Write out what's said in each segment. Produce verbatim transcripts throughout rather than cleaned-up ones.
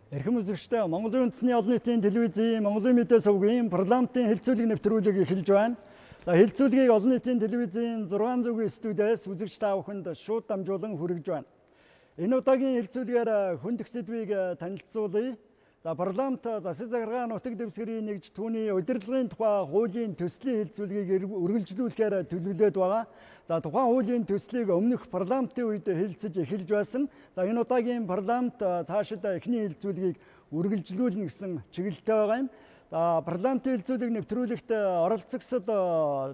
Эрхэм үзэгчдээ Монголын үндэсний олон нийтийн телевизийн Монголын мэдээ сувгийн парламентын хэлцүүлэг нэвтрүүлэг эхэлж байна. За хэлцүүлгийг олон нийтийн телевизийн зургаан зүгийн студиэс үзэгч та бүхэнд шууд дамжуулан хүргэж байна. Энэ удаагийн хэлцүүлгээр хүнд сэдвийг танилцуулъя. За парламент засаг захиргааны нутаг дэвсгэрийн нэгж түүний удирдлагын тухай хуулийн төслийн хэлцүүлгийг үргэлжлүүлэхээр төлөвлөд байгаа. За тухайн хуулийн төслийг өмнөх парламентын үед хэлэлцэж эхэлж байсан. За энэ удаагийн парламент цаашид эхний хэлцүүлгийг үргэлжлүүлнэ гэсэн чиглэлтэй байгаа юм. За парламентын хэлцүүлэг нэвтрүүлэгт оролцогсод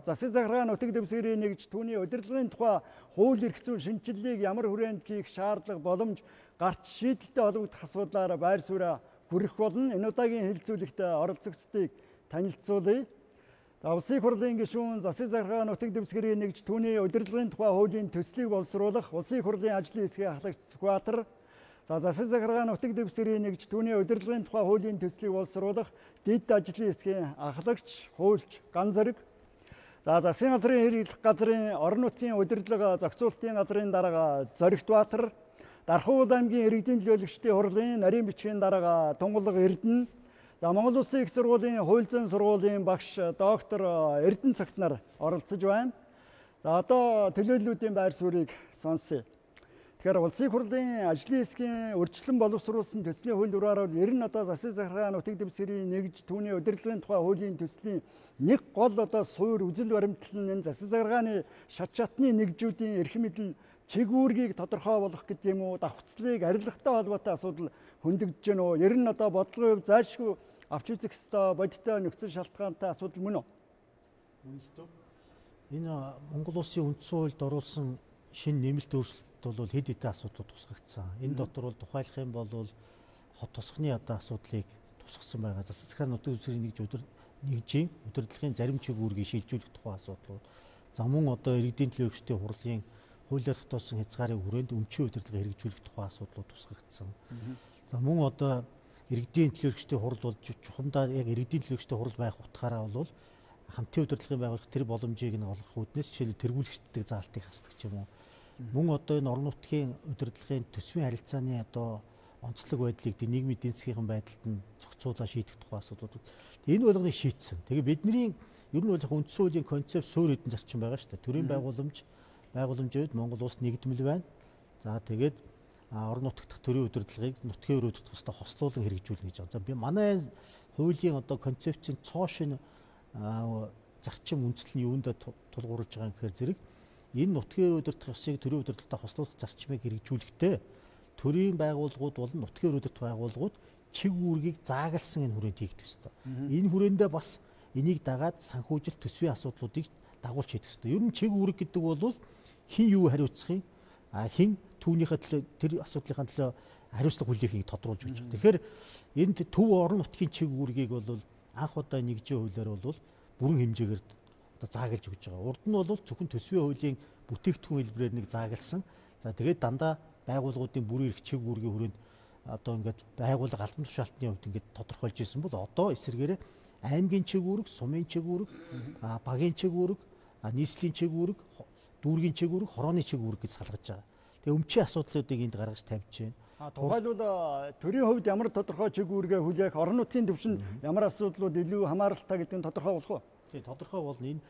засаг захиргааны нутаг дэвсгэрийн нэгж түүний удирдлагын тухай хууль эрх зүйн шинжилгээг ямар хүрээнд хийх шаардлага боломж гарч шийдэлтэй холбогдох асуудлаар байр сууриа хүрэх болно. Энэ удаагийн хэлцүүлэгт оролцогчдыг танилцуулъя. За улсын хурлын гишүүн засаг захиргааны нутаг дэвсгэрийн нэгж түүний удирдлагын тухай хуулийн төслийг боловсруулах улсын хурлын ажлын хэсгийн ахлагч Сүхбаатар. За засаг захиргааны нутаг дэвсгэрийн нэгж түүний удирдлагын тухай хуулийн төслийг боловсруулах дэд ажлын хэсгийн ахлагч Хуульч Ганзараг. За засгийн газрын хэрэглэх газрын орон нутгийн удирдлага зохицуулалтын газрын дарга Зоригт Баатар. Дархуул аймгийн иргэдийн төлөөлөгчдийн хурлын нарийн бичгийн дарга Тунгалаг Эрдэнэ. За Монгол Улсын их сургуулийн хууль зүйн сургуулийн багш доктор Эрдэнэ цагт нар оролцож байна. За одоо төлөөллүүдийн байр суурийг сонсъё. Тэгэхээр улсын хурлын ажлын хэсгийн урьдчилан боловсруулсан төслийн хууль дураараар ер нь одоо засаг захиргааны нутаг дэвсгэрийн нэгж түүний удирдлагын тухай хуулийн төслийн нэг гол одоо суур үзэл баримтлал нь засаг захиргааны шат шатны нэгжүүдийн эрх мэдэл чиг үүргийг тодорхой болгох гэдэг юм уу, давхцлыг арилгатай холбоотой асуудал хөндөгдөж гэнэ үү? Ер нь одоо бодлогын хувь зайлшгүй авч үзэх ёстой бодиттой нөхцөл шалтгаантай асуудал мөн үү? Энэ Монгол Улсын үндсэн хуульд оруулсан шинэ нэмэлт өөрчлөлт бол хэд хэдэн асуудлууд тусгагдсан. Энэ дотор бол тухайлах юм бол хот тосхны одоо асуудлыг тусгасан байгаа. Засаг захиргааны нутаг дэвсгэрийн нэгж өдөр нэгжийн удирдлагын зарим чиг үүргийг шилжүүлэх тухай асуудлууд. За мөн одоо иргэдийн төлөөлөгчдийн хурлын хуулиар тогтоосон хязгаарын хүрээнд өмчийн удирдлага хэрэгжүүлэх тухай асуудлууд тусгагдсан. За мөн одоо иргэдийн төлөөлөгчдийн хурл бол чухамдаа яг иргэдийн төлөөлөгчдийн хурл байх утгаараа бол хамтын удирдлагын байгууллага тэр боломжийг нь олгох үүднээс жишээлбэл тэргүүлэгчдийн заалтыг хасдаг ч юм уу. Мөн одоо энэ орон нутгийн удирдлагын төсвийн харилцааны одоо онцлог байдлыг нийгмийн эдийн засгийн байдалд нь зохицуулаад шийдэх тухай асуудлууд. Энэ болгоныг шийдсэн. Тэгээ бидний ер нь бол үндсэн хуулийн концепт суурь эдийн зарчим байгаа шүү дээ. Төрийн байгууламж байгууламжид Монгол улс нэгдмэл байна. За тэгээд орон нутгт төрийн удирдлагыг нутгийн өрөө тутах хэвээр хослуулан хэрэгжүүлнэ гэж байгаа. За би манай хуулийн одоо концепцийн цоо шин зарчим үндэслэл нь юундаа тулгуурлаж байгаа юм гэхээр зэрэг энэ нутгийн өрөө удирдах ёсыг төрийн удирдлагатай хослуулах зарчмыг хэрэгжүүлэхдээ төрийн байгууллагууд болон нутгийн өрөө удирдах байгууллагууд чиг үүргийг заагалсан энэ хүрээнд хийгдэх ёстой. Энэ хүрээндээ бас энийг дагаад санхүүжилт төсвийн асуудлуудыг дагуулж хийх ёстой. Ер нь чиг үүрэг гэдэг бол хин юу хариуцахын хин түүнийхээ төлөө тэр асуудлынхаа төлөө хариуцлага хүлээхийг тодруулж өгч байгаа. Тэгэхээр энд төв орон нутгийн чиг үүргийг бол анх удаа нэгжийн хуулиар бол бүрэн хэмжээгээр одоо заагалж өгч байгаа. Урд нь бол зөвхөн төсвийн хуулийн бүтээгдэхүүн хэлбэрээр нэг заагалсан. За тэгээд дандаа байгууллагуудын бүрэн эрх чиг үүргийн хүрээнд одоо ингээд байгууллага албан тушаалтны хувьд ингээд тодорхойлж ирсэн бол одоо эсэргээрээ аймгийн чиг үүрэг, сумын чиг үүрэг, багийн чиг үүрэг, нийслэлийн чиг үүрэг, дүүргийн чиг үүрэг, хорооны чиг үүрэг гэж салгаж байгаа. Тэгээ өмчийн асуудлуудыг энд гаргаж тавьж байна. А тухайлбал төрийн хувьд ямар тодорхой чиг үүргээ хүлээх, орон нутгийн түвшинд ямар асуудлууд илүү хамааралтай гэдэг нь тодорхой болох уу? Тийм тодорхой болно. Энэ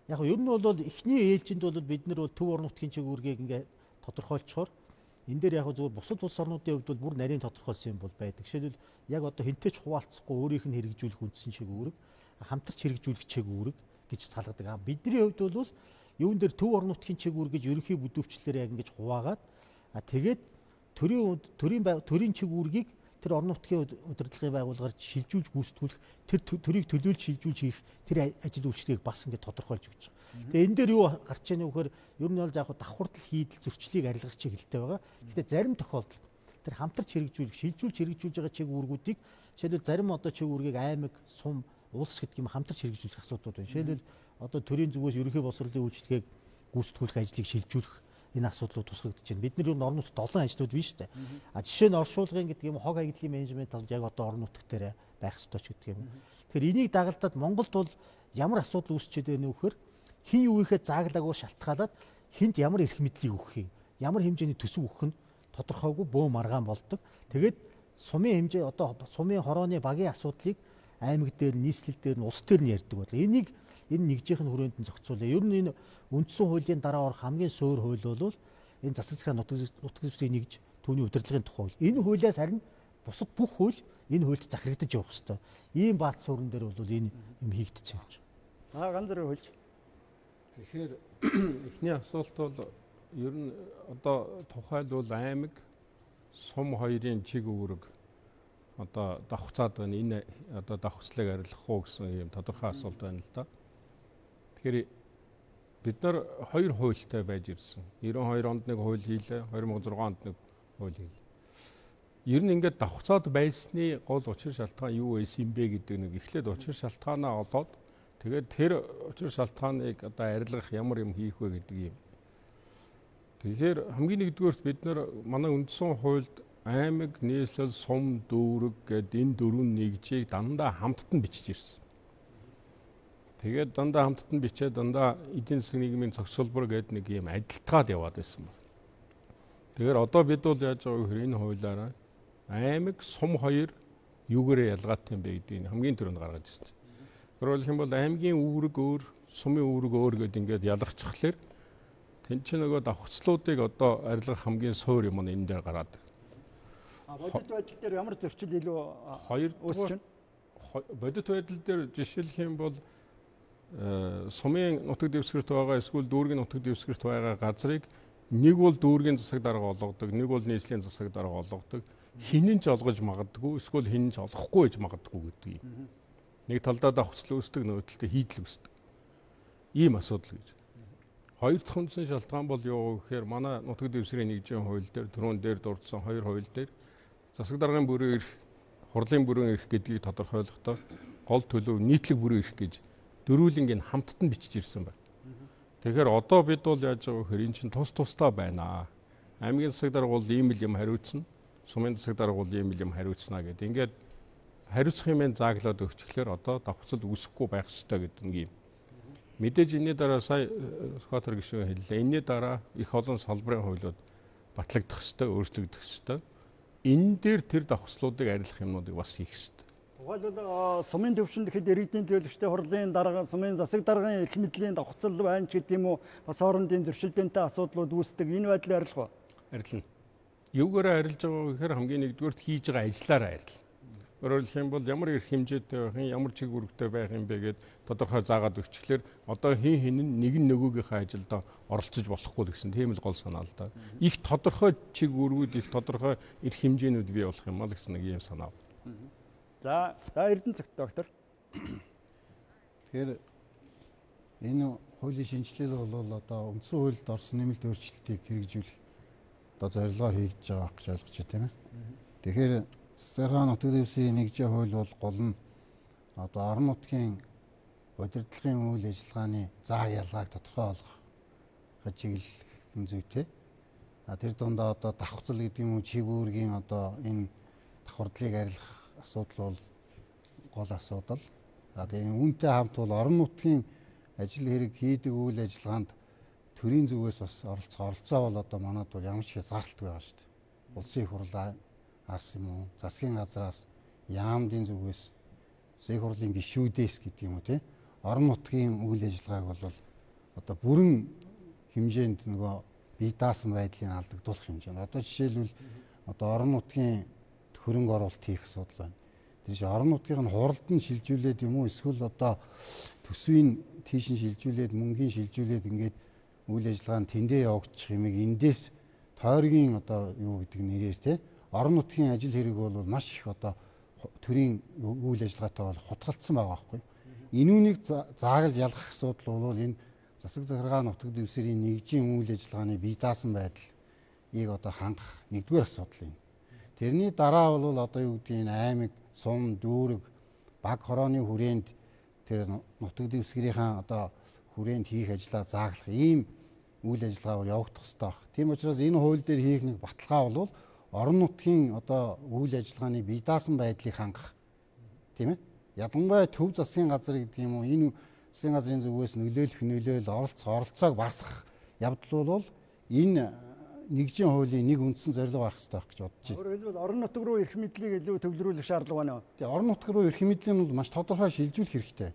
яг нь ер нь бол эхний ээлжинд бол бид нар бол төв орон нутгийн чиг үүргийг ингээд тодорхойлцохоор энэ дээр яг зөвхөн бусад улс орнуудын хувьд бол бүр нарийн тодорхойлсон юм бол байдаг. Жишээлбэл яг одоо хинтэй ч хуваалцахгүй өөрийнх нь хэрэгжүүлэх үндсэн чиг үүрэг, хамтарч хэрэгжүүлэх чиг үүрэг гэж салгадаг. Бидний хувьд бол юун дээр төв орон нутгийн чиг үүрэг гэж ерөнхий бүдүүвчлэлээр яг ингэж хуваагаад тэгээд төрийн төрийн төрийн чиг үүргийг тэр орон нутгийн удирдлагын байгууллагаар шилжүүлж гүйцэтгүүлэх тэр төрийг төлөөлж шилжүүлж хийх тэр ажил үйлчлэгийг бас ингэ тодорхойлж өгч байгаа. Тэгээ энэ дээр юу гарч ийнэ вөхөр ер нь бол яг давхурдал хийдэл зөрчлийг арилгах чиглэлтэй байгаа. Гэхдээ зарим тохиолдолд тэр хамтарч хэрэгжүүлэх шилжүүлж хэрэгжүүлж байгаа чиг үүргүүдийг жишээлбэл зарим одоо чиг үүргийг аймаг, сум, улс гэдэг юм хамтарч хэрэгжүүлэх асуудлууд байна. Жишээлбэл одоо төрийн зүгээс ерөнхий боловсролын үйлчлэгийг гүйцэтгүүлэх ажлыг шилжүүлэх энэ асуудлууд тусгагдж байна. Бид нар ер нь орон нутгад олон ажлууд биш үү? А жишээ нь оршуулгын гэдэг юм хог хаягдлын менежмент бол яг одоо орон нутгт дээр байх ёстой ч гэдэг юм. Тэгэхээр энийг дагалдаад Монголд бол ямар асуудал үүсчээд байна вэ гэхээр хин юу ихэ зааглаагүй шалтгаалаад хинт ямар эрх мэдлийг өгөх юм, ямар хэмжээний төсөв өгөх нь тодорхойгүй бөө маргаан болдог. Тэгээд сумын хэмжээ одоо сумын хорооны багийн асуудлыг аймаг дээр, нийслэл дээр, улс дээр нь ярьдаг бодлоо. Энийг энэ нэгжийнх нь хүрээнд нь зохицуулъя. Ер нь энэ үндсэн хуулийн дараа орох хамгийн суур хууль бол энэ засаг захиргааны нутаг дэвсгэрийн нэгж түүний удирдлагын тухай хууль. Энэ хуулиас харин бусад бүх хууль энэ хуульд захирагдаж явах хэрэгтэй. Ийм баат суурин дээр бол энэ юм хийгдчихэж байна. Аа ганц зэрэг хуульч. Тэгэхээр эхний асуулт бол ер нь одоо тухайлбал аймаг сум хоёрын чиг үүрэг одоо давхцаад байна. Энэ одоо давхцлыг арилгах уу гэсэн юм тодорхой асуулт байна л да. Тэгэхээр бид нар хоёр хуультай байж ирсэн. девяносто хоёр онд нэг хууль хийлээ, две тысячи шесть онд нэг хууль хийлээ. Ер нь ингээд давхцаад байсны гол учир шалтгаан юу байсан бэ гэдэг нэг эхлээд учир шалтгаанаа олоод тэгээд тэр учир шалтгааныг одоо арилгах ямар юм хийх вэ гэдэг юм. Тэгэхээр хамгийн нэгдүгээрт бид нар манай үндсэн хуульд аймаг, нийслэл, сум, дүүрэг гэдэг энэ дөрвөн нэгжийг дандаа хамтд нь бичиж ирсэн. Тэгээд дандаа хамтд нь бичээд дандаа эдийн засгийн нийгмийн зохицуулбар гэдэг нэг юм адилтгаад яваад байсан байна. Тэгэхээр одоо бид бол яаж байгаа вэ гэхээр энэ хуулиараа аймаг, сум хоёр юугээрээ ялгаатай юм бэ гэдгийг хамгийн түрүүнд гаргаж ирсэн. Өөрөөр хэлбэл аймгийн үүрэг өөр, сумын үүрэг өөр гэдэг ингээд ялгачихлаэр тэн чинь нөгөө давхцлуудыг одоо арилгах хамгийн суур юм нь энэ дээр гараад байна. А бодит байдал дээр ямар зөрчил илүү хоёр үүсэж байна? Бодит байдал дээр жишээлх юм бол сумын нутаг дэвсгэрт байгаа эсвэл дүүргийн нутаг дэвсгэрт байгаа газрыг нэг бол дүүргийн засаг дарга олгодог, нэг бол нийслэлийн засаг дарга олгодог. Хинэн ч олгож магадгүй, эсвэл хинэн ч олохгүй гэж магадгүй гэдэг юм. Нэг талдаа давхцал үүсдэг, нөгөө талдаа хийдэл үүсдэг. Ийм асуудал гэж. Хоёр дахь үндсэн шалтгаан бол юу гэхээр манай нутаг дэвсгэрийн нэгжийн хууль дээр түрүүн дээр дурдсан хоёр хууль дээр засаг даргын бүрэн эрх, хурлын бүрэн эрх гэдгийг тодорхойлохдоо гол төлөв нийтлэг бүрэн эрх гэж дөрвөлнгийн хамтд нь бичиж ирсэн байна. Тэгэхээр одоо бид бол яаж байгаа вэ гэхээр эн чинь тус тустай байна. Аймгийн засаг дарга бол ийм л юм хариуцна, сумын засаг дарга бол ийм л юм хариуцна гэдэг. Ингээд хариуцах юм зааглаад өгчлөөр одоо давхцал үүсэхгүй байх ёстой гэдэг нэг юм. Мэдээж энэний дараа сая Сүхбаатар гишүүн хэллээ. Энэний дараа их олон салбарын хуулиуд батлагдах ёстой, өөрчлөгдөх ёстой. Энэ дээр тэр давхцлуудыг арилгах юмнуудыг бас хийх ёстой. Тухайлбал сумын төвшөнд хэд иргэдийн төлөвчтэй хурлын дарга, сумын засаг даргын эрх мэдлийн давхцал байна ч гэдэг юм уу, бас хоорондын зөрчилдөөнтэй асуудлууд үүсдэг. Энэ байдлыг арилгах уу? Арилна. Юугаараа арилж байгаа вэ гэхээр хамгийн нэгдүгürt хийж байгаа ажиллаараа арилна. Өөрөөр хэлэх юм бол ямар эрх хэмжээтэй байх юм, ямар чиг үүрэгтэй байх юм бэ гэд тодорхой заагаад өгчлөөр одоо хин хин нь нэг нь нөгөөгийнхээ ажилд оролцож болохгүй гэсэн тийм л гол санаа л да. Их тодорхой чиг үүргүүд, их тодорхой эрх хэмжээнүүд бий болох юм аа гэсэн нэг юм санаа. За, за Эрдэнэцэгт доктор. Тэгэхээр энэ хуулийн шинжилэл бол одоо үндсэн хуульд орсон нэмэлт өөрчлөлтийг хэрэгжүүлэх одоо зорилгоор хийгдэж байгаа гэж ойлгож байна, тийм ээ. Тэгэхээр Засгийн нутаг дэвсгэрийн нэгжийн хууль бол гол нь одоо орон нутгийн удирдлагын үйл ажиллагааны заа ялгааг тодорхой болгох чиглэл зүйтэй. А тэр дундаа одоо давхцал гэдэг юм уу, чиг үүргийн одоо энэ давхардлыг арилгах асуудал бол гол асуудал. За тэгээ үүнтэй хамт бол орон нутгийн ажил хэрэг хийдэг үйл ажиллагаанд төрийн зүгээс бас оролцоо оролцоо бол одоо манайд бол ямар ч хязгаарлалт байгаа шүү дээ. Улсын их хурлаа ас юм уу, засгийн газраас, яамдын зүгээс, засгийн хурлын гишүүдээс гэдэг юм уу тий. Орон нутгийн үйл ажиллагааг бол одоо бүрэн хэмжээнд нөгөө бие даасан байдлыг алдагдуулах хэмжээнд. Одоо жишээлбэл одоо орон нутгийн хөрөнгө оруулалт хийх асуудал байна. Тэр чинь орон нутгийн нь хуралд нь шилжүүлээд юм уу, эсвэл одоо төсвийн тийш нь шилжүүлээд, мөнгөний шилжүүлээд ингээд үйл ажиллагаанд тэндээ явагдчих юмыг эндээс тойргийн одоо юу гэдэг нэрээр тий. Орон нутгийн ажил хэрэг бол маш их одоо төрийн үйл ажиллагаатай бол хутгалцсан байгаа байхгүй. Энүүнийг заагалж ялгах асуудал бол энэ засаг захиргааны нутаг дэвсгэрийн нэгжийн үйл ажиллагааны бие даасан байдлыг одоо хангах нэгдүгээр асуудал юм. Тэрний дараа бол одоо юу гэдэг нь аймаг, сум, дүүрэг, баг хорооны хүрээнд тэр нутаг дэвсгэрийн одоо хүрээнд хийх ажлаа зааглах ийм үйл ажиллагаа бол явагдах ёстой. Тийм учраас энэ хууль дээр хийх нэг баталгаа бол орон нутгийн одоо үйл ажиллагааны бие даасан байдлыг хангах, тийм ээ. Ялангуяа төв засгийн газар гэдэг юм уу, энэ засгийн газрын зүгээс нөлөөлөх нөлөөл оролцоо оролцоог багасгах явдал бол энэ нэгжийн хуулийн нэг үндсэн зорилго байх хэрэгтэй байх гэж бодож байна. Өөрөөр хэлбэл орон нутаг руу эрх мэдлийг илүү төвлөрүүлэх шаардлага байна. Тэгээ орон нутаг руу эрх мэдлийн бол маш тодорхой шилжүүлэх хэрэгтэй.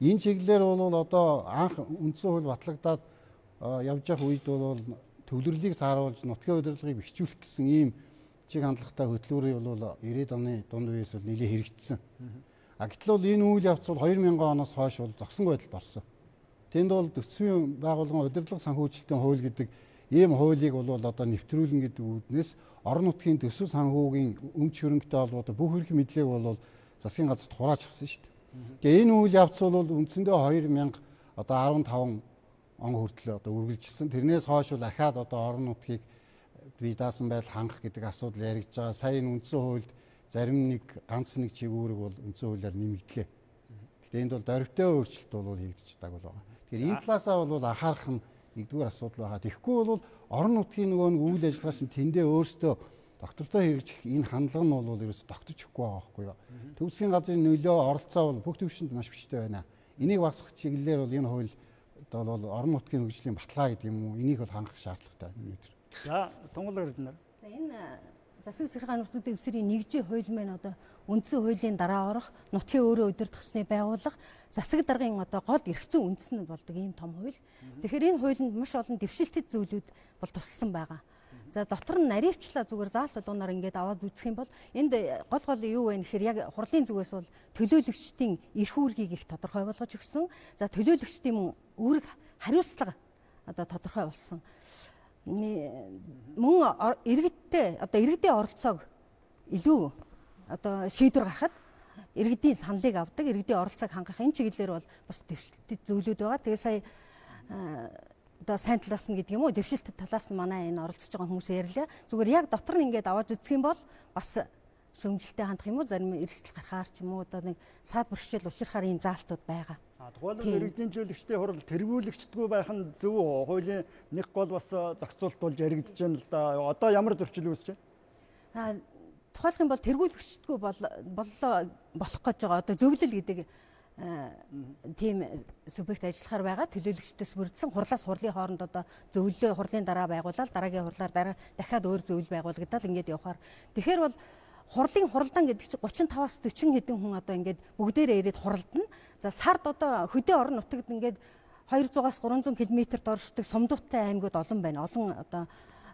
Энэ чиглэлээр бол одоо анх үндсэн хууль батлагдаад явж явах үед бол төвлөрлийг сааруулж нутгийн удирдлагыг бэхжүүлэх гэсэн ийм чиг хандлагатай хөтөлбөрийг бол ирээд оны дунд үеэс бол нэлээд хэрэгжсэн. А гэтэл бол энэ үйл явц бол хоёр мянган оноос хойш бол зогсон байдалд орсон. Тэнд бол төсвийн байгууллагын удирдлага санхүүжилтийн хууль гэдэг ийм хуулийг бол одоо нэвтрүүлнэ гэдэг үүднээс орон нутгийн төсөв санхүүгийн өмч хөрөнгөтэй холбоотой бүх эрх мэдлийг бол засгийн газарт хурааж авсан шүү дээ. Тэгээ энэ үйл явц бол үндсэндээ хоёр мянга одоо арван таван он хүртэл одоо үргэлжилсэн. Тэрнээс хойш бол ахаад одоо орон нутгийг бие даасан байдал хангах гэдэг асуудал яригдж байгаа. Сая энэ үндсэн хуульд зарим нэг ганц нэг чиглэлийг бол үндсэн хуулиар нэмэгдлээ. Гэхдээ энд бол дөрвтэй өөрчлөлт бол хийгдэж байгаа бол байгаа. Тэгэхээр энэ талаасаа бол анхаарах нь нэгдүгээр асуудал байгаа. Тэгэхгүй бол орон нутгийн нөгөө нэг үйл ажиллагаа шин тэндээ өөрсдөө доктортой хэрэгжих энэ хандлага нь бол ерөөс тогтож өгөхгүй байгаа байхгүй юу. Төвсгийн газрын нөлөө оролцоо бол бүх төвшөнд маш биштэй байна. Энийг багасгах чиглэлээр бол энэ хууль одоо бол орон нутгийн хөгжлийн баталгаа гэдэг юм уу? Энийг бол хангах шаардлагатай байна. За, тунгалаг эрдэнэ. За энэ засаг захиргааны нутгийн дэвсгэрийн нэгжийн хууль маань одоо үндсэн хуулийн дараа орох, нутгийн өөрөө удирдах ёсны байгууллага, засаг даргын одоо гол эрх зүйн үндэснэд болдог ийм том хууль. Тэгэхээр энэ хуулинд маш олон дэвшилтэт зүйлүүд бол туссан байгаа. За дотор нь наривчлаа зүгээр заалт болгоноор ингээд аваад үзэх юм бол энд гол гол юу вэ гэхээр яг хурлын зүгээс бол төлөөлөгчдийн эрх үүргийг их тодорхой болгож өгсөн. За төлөөлөгчдийн үүрэг хариуцлага одоо тодорхой болсон. Мөн иргэдтэй одоо иргэдийн оролцоог илүү одоо шийдвэр гаргахад иргэдийн саналыг авдаг, иргэдийн оролцоог хангах энэ чиглэлээр бол бас дэвшилтэт зүйлүүд байгаа. Тэгээ сая одоо сайн талаас нь гэдэг юм уу, дэвшилтэт талаас нь манай энэ оролцож байгаа хүмүүс ярьлаа. Зүгээр яг дотор нь ингээд аваад үзэх юм бол бас шөмжилтэй хандах юм уу, зарим эрсдэл гарахаар ч юм уу одоо нэг саад бэрхшээл учрахаар ийм заалтууд байгаа. А тухайлбал иргэдийн зөвлөгчдийн хурал тэргүүлэгчдгүй байх нь зөв үү? Хуулийн нэг гол бас зохицуулт болж яригдж байна л да. Одоо ямар зөрчил үүсэж А байна? тухайлх юм бол тэргүүлэгчдгүй бол боллоо болох гэж байгаа. Одоо зөвлөл гэдэг тийм субъект ажиллахаар байгаа. Төлөөлөгчдөөс бүрдсэн хурлаас хурлын хооронд одоо зөвлөлөө хурлын дараа байгуулаад дараагийн хурлаар дараа дахиад өөр зөвлөл байгуулагдаад ингээд явахаар. Тэгэхээр бол хурлын хуралдаан гэдэг чинь гучин таваас дөрвөн хэдэн хүн одоо ингээд бүгдээрээ ирээд хуралдана. За сард одоо хөдөө орон нутагт ингээд двухсад-аас гурван зуун км-т оршдог сумдуутай аймагуд олон байна. Олон одоо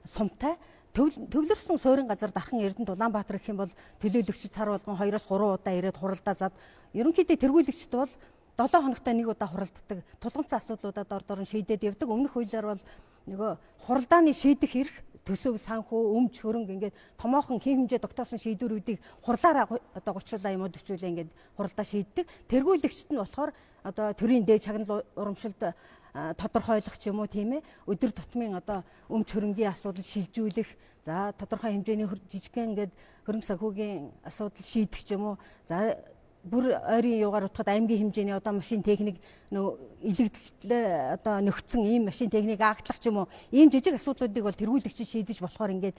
сумтай төвлөрсөн суурин газар дархан Эрдэнэт Улаанбаатар гэх юм бол төлөөлөгчд сар болгон хоёроос гурван удаа ирээд хуралдаа зад ерөнхийдөө тэргүүлэгчд бол долоо хоногтой нэг удаа хуралддаг. Тулгымцсан асуудлуудад ор дорн шийдээд явдаг. Өмнөх хуулиар бол нөгөө хуралдааны шийдэх эрх төсөв санхүү өмч хөрөнгө ингээд томоохон хэм хэмжээ тогтоосон шийдвэрүүдийг хурлаараа одоо гучлаа юм уу төвчүүлээ ингээд хуралдаа шийддэг. Тэргүүлэгчд нь болохоор одоо төрийн дээд чагнал урамшилд тодорхойлох ч юм уу тийм ээ өдөр тутмын одоо өмч хөрөнгийн асуудал шилжүүлэх за тодорхой хэмжээний жижигхэн ингээд хөрөнгө санхүүгийн асуудал шийдэх ч юм уу за бүр ойрын юугаар утгад аймгийн хэмжээний одоо машин техник нөө илэгдлээ одоо нөхцөн ийм машин техник агтлах ч юм уу ийм жижиг асуудлуудыг бол тэргүүлэгч шийдэж болохоор ингээд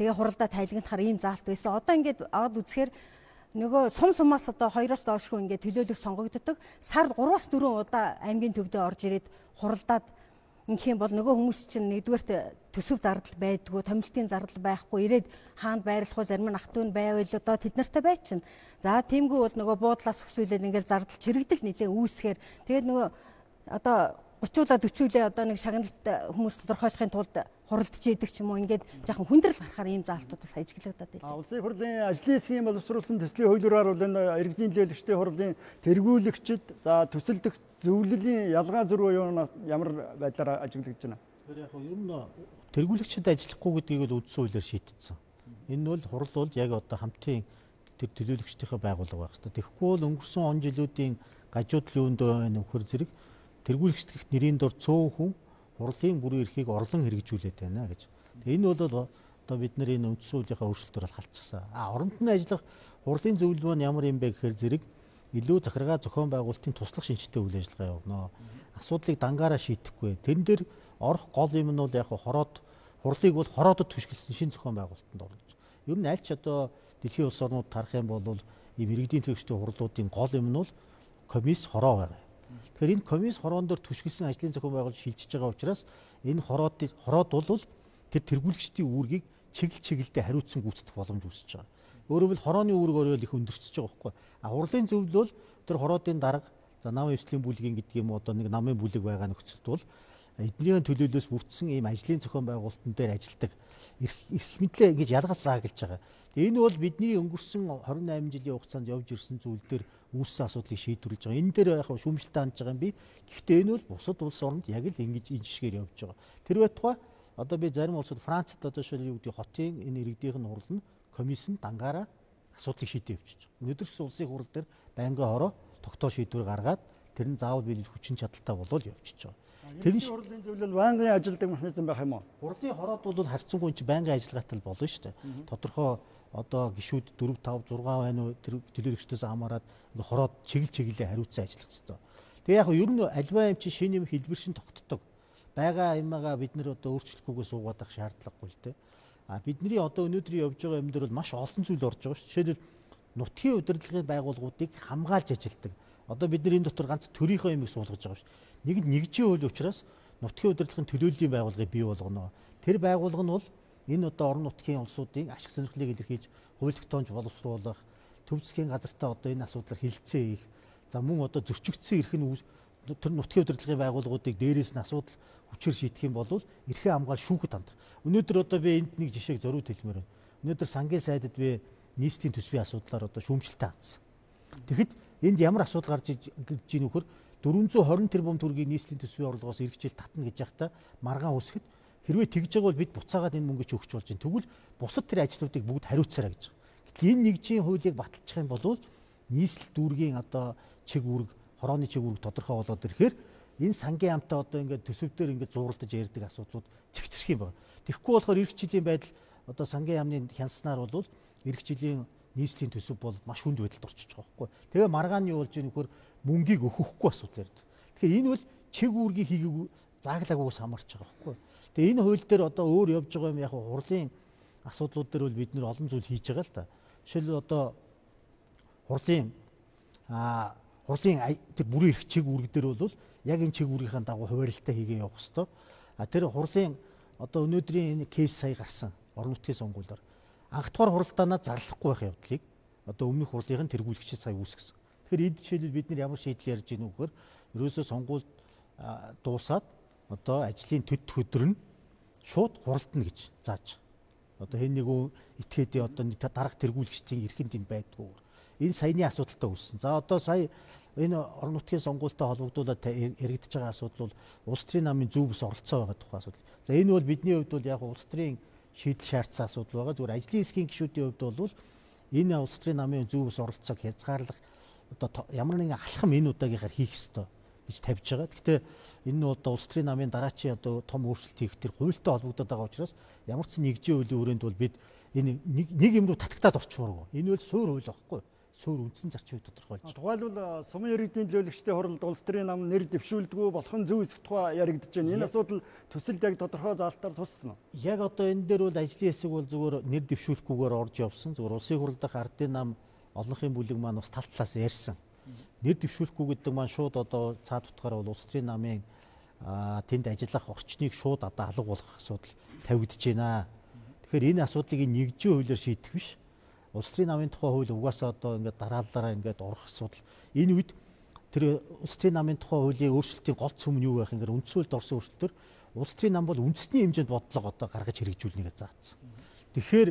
тэгээ хуралдаа тайлгнахаар ийм заалт байсан. Одоо ингээд аваад үзэхээр нөгөө сум сумаас одоо хоёроос доошгүй ингээд төлөөлөх сонгогддог. Сард гураваас дөрвөн удаа аймгийн төвдөө орж ирээд хуралдаад ингэх юм бол нөгөө хүмүүс чинь нэгдүгээрт төсөв зардал байдгүй, томилтын зардал байхгүй, ирээд хаанд байрлах уу, зарим нь ах トゥ нь байвал одоо тэд нартай бай чинь. За тиймгүй бол нөгөө буудлаас өсвөлээд ингээд зардал чирэгдэл нэлээ үүсгэхээр тэгээд нөгөө одоо гучлаа төчүүлээ одоо нэг шагналт хүмүүс тодорхойлохын тулд хуралдаж идэг ч юм уу ингээд жоохон хүндрэл гарахаар ийм заалтууд бас ажиглагдаад байна. А улсын хурлын ажлын хэсгийн боловсруулсан төслийн хуулиараар бол энэ иргэдийн төлөөлөгчдийн хурлын тэргүүлэгчид за төсөлдөх зөвлөлийн ялгаа зөрүү ямар байдлаар ажиглагдаж байна? Тэр яг ер нь тэргүүлэгчид ажиллахгүй гэдгийг л үндсэн хуулиар шийдтсэн. Энэ бол хурал бол яг одоо хамтын тэр төлөөлөгчдийнхээ байгууллага байх хэрэгтэй. Тэгэхгүй бол өнгөрсөн он жилүүдийн гажуудл юундөө нөхөр зэрэг тэргүүлэгчд гэх нэрийн дор цөөн хүн хурлын бүрэн эрхийг орлон хэрэгжүүлээд байна гэж. Тэгээ энэ бол одоо бид нарын үндсэн хуулийнхаа өөрчлөлтөөр бол халдчихсан. А оронд нь ажиллах хурлын зөвлөл маань ямар юм бэ гэхээр зэрэг илүү захиргаа зохион байгуулалтын туслах шинжтэй үйл ажиллагаа явуулна. Асуудлыг дангаараа шийдэхгүй. Тэрэн дээр орох гол юм нь бол яг хороод хурлыг бол хороодод түшгэлсэн шинэ зохион байгуулалтанд оруулж. Ер нь аль ч одоо дэлхийн улс орнууд тарах юм бол ийм иргэдийн төлөвчдийн хурлуудын гол юм нь бол комисс хороо байгаа. Тэгэхээр энэ комисс хороон дээр түшгэлсэн ажлын зохион байгуулалт шилжиж байгаа учраас энэ хороод хороод бол тэр тэргүүлэгчдийн үүргийг чиглэл чиглэлдээ хариуцсан гүйцэтгэх боломж үүсэж байгаа. Өөрөөр хэлбэл хорооны үүрэг оройол их өндөрчөж байгаа байхгүй. А хурлын зөвлөл бол тэр хороодын дарга за намын эвслийн бүлгийн гэдэг юм одоо нэг намын бүлэг байгаа нөхцөлд бол эднийхэн төлөөлөөс бүрдсэн ийм ажлын зохион байгуулалтын дээр ажилладаг эрх мэдлээ ингэж ялгаж зааглаж байгаа. Тэгээ энэ бол бидний өнгөрсөн хорин найман жилийн хугацаанд явж ирсэн зүйл дээр үүссэн асуудлыг шийдвэрлэж байгаа. Энэ дээр яг шүүмжлэлтэй хандж байгаа юм би. Гэхдээ энэ бол бусад улс оронд яг л ингэж энэ жишгээр явж байгаа. Тэр байтугай одоо би зарим улсад Францад одоо шил юу гэдэг хотын энэ иргэдийнх нь хурал нь комиссийн дангаараа асуудлыг шийдэж явчихж байгаа. Өнөөдөр ч улсын хурал дээр байнгын хороо тогтоо шийдвэр гаргаад тэр нь заавал биелэх хүчин чадалтай болоод явчихж байгаа. Тэр нь хурлын зөвлөл байнгын ажилдаг механизм байх юм уу? Хурлын хороод бол харьцангуй чи байнгын ажиллагаатай болно шүү дээ. Тодорхой одоо гишүүд дөрв тав зургаан байна уу тэр төлөөлөгчдөөс хамаарат хороод чиглэл чиглэлээ хариуцсан ажиллах хэрэгтэй. Тэгээ яг ер нь альва юм чи шинэ юм хэлбэр шин тогтдог. Байгаа юмгаа бид нэр одоо өөрчлөхгүйгээ суугаад ах шаардлагагүй л дээ. А бидний одоо өнөөдрийн явж байгаа юм дээр бол маш олон зүйл орж байгаа шүү. Жишээлбэл нутгийн удирдлагын байгууллагуудыг хамгаалж ажилтдаг. Одоо бид нар энэ дотор ганц төрийнхөө юмыг суулгаж байгаа шүү. Нэг нь нэгжийн хууль учраас нутгийн удирдлагын төлөөллийн байгууллагыг бий болгоно. Тэр байгууллага нь бол энэ одоо орон нутгийн улсуудын ашиг сонирхлыг илэрхийлж хууль тогтоомж боловсруулах, төв засгийн газартай одоо энэ асуудлаар хэлэлцээ хийх, за мөн одоо зөрчигдсөн эрх нь тэр нутгийн удирдлагын байгууллагуудыг дээрээс нь асуудал хүчээр шийдэх юм бол эрхээ хамгаал шүүхэд хандах. Өнөөдөр одоо би энд нэг жишээг зориуд хэлмээр байна. Өнөөдөр сангийн сайдад би нийслэлийн төсвийн асуудлаар одоо шүүмжлэлтэй хандсан. Тэгэхэд энд ямар асуудал гарч иж нөхөр дөрвөн зуун хорин тэрбум төгрөгийг нийслэлийн төсвийн орлогоос эргэжил татна гэж яхта маргаан үсгэд хэрвээ тэгж байгаа бол бид буцаагаад энэ мөнгөийг өгч болж байна. Тэгвэл бусад тэр ажлуудыг бүгд хариуцаарай гэж. Гэтэл энэ нэгжийн хуулийг баталчих юм бол нийслэл дүүргийн одоо чиг үүрэг, хорооны чиг үүрэг тодорхой болоод ирэхээр энэ сангийн амтаа одоо ингээд төсөвдөр ингээд зууралдаж ярьдаг асуудлууд цэгцэрх юм байна. Тэгэхгүй болохоор эх жилийн байдал одоо сангийн яамны хянснаар бол эх жилийн нийслэлийн төсөв бол маш хүнд байдалд орчиж байгаа байхгүй. Тэгээ маргаан нь юу болж ийм нөхөр мөнгийг өгөхгүй асуудал ярьдаг. Тэгэхээр энэ бол чиг үүргийг хийгээгүй зааглаагүйгээс хамаарч байгаа байхгүй. Тэгээ энэ хууль дээр одоо өөр явж байгаа юм яг хурлын асуудлууд дээр бол бид нэр олон зүйл хийж байгаа л да. Жишээлбэл одоо хурлын а хурлын тэр бүрийн эрх чиг үүрэг дээр бол яг энэ чиг үүргийнхаа дагуу хуваарлтаа хийгээ явах хэвээр. А тэр хурлын одоо өнөөдрийн энэ кейс сая гарсан орон нутгийн сонгуулиар анх дугаар хуралдаанаа зарлахгүй байх явдлыг одоо өмнөх хурлын тэргүүлэгчид сая үүсгэсэн. Тэгэхээр эд жишээлбэл бид нар ямар шийдэл ярьж гинэ вөхөр ерөөсөө сонгуульд дуусаад одоо ажлын төд өдөр нь шууд хуралдана гэж зааж. Одоо хэн нэгөө этгээдээ одоо дарга тэргүүлэгчдийн эрхэнд энэ байдгүй. Энэ саяны асуудалтай үүссэн. За одоо сая энэ орон нутгийн сонгуультай холбогдуулаад яригдж байгаа асуудал бол улс төрийн намын зөв бус оролцоо байгаа тухай асуудал. За энэ бол бидний хувьд бол яг улс төрийн шийдэл шаардсан асуудал байгаа. Зүгээр ажлын хэсгийн гишүүдийн хувьд бол энэ улс төрийн намын зөв бус оролцоог хязгаарлах одоо ямар нэгэн алхам энэ удаагийнхаар хийх ёстой гэж тавьж байгаа. Гэхдээ энэ нь одоо улс төрийн намын дараачийн одоо том өөрчлөлт хийх тэр хуультай холбогдоод байгаа учраас ямар ч нэгжийн хуулийн хүрээнд бол бид энэ нэг юм руу татагтаад орчмооргүй. Энэ бол суур хууль байхгүй. Суур үндсэн зарчмыг тодорхойлж байгаа. Тухайлбал сумын иргэдийн төлөөлөгчдийн хуралд улс төрийн нам нэр дэвшүүлдэггүй болох нь зөв эсэх тухай яригдж байна. Энэ асуудал төсөлд яг тодорхой заалтаар туссан уу? Яг одоо энэ дээр бол ажлын хэсэг бол зүгээр нэр дэвшүүлэхгүйгээр орж явсан. Зүгээр улсын хурал дахь ардын нам олонхын бүлэг маань бас тал талаас ярьсан. Нэр дэвшүүлэхгүй гэдэг маань шууд одоо цаад утгаараа бол улс төрийн намын тэнд ажиллах орчныг шууд одоо алга болох асуудал тавигдж байна. Тэгэхээр энэ асуудлыг нэгжийн хуулиар шийдэх биш. Улс төрийн намын тухай хууль угаасаа одоо ингээд дараалалаараа ингээд орох асуудал. Энэ үед тэр улс төрийн намын тухай хуулийн өөрчлөлтийн гол цөм нь юу байх юм? Үндсэн хуульд орсон өөрчлөлтөөр улс төрийн нам бол үндэсний хэмжээнд бодлого одоо гаргаж хэрэгжүүлнэ гэж заасан. Тэгэхээр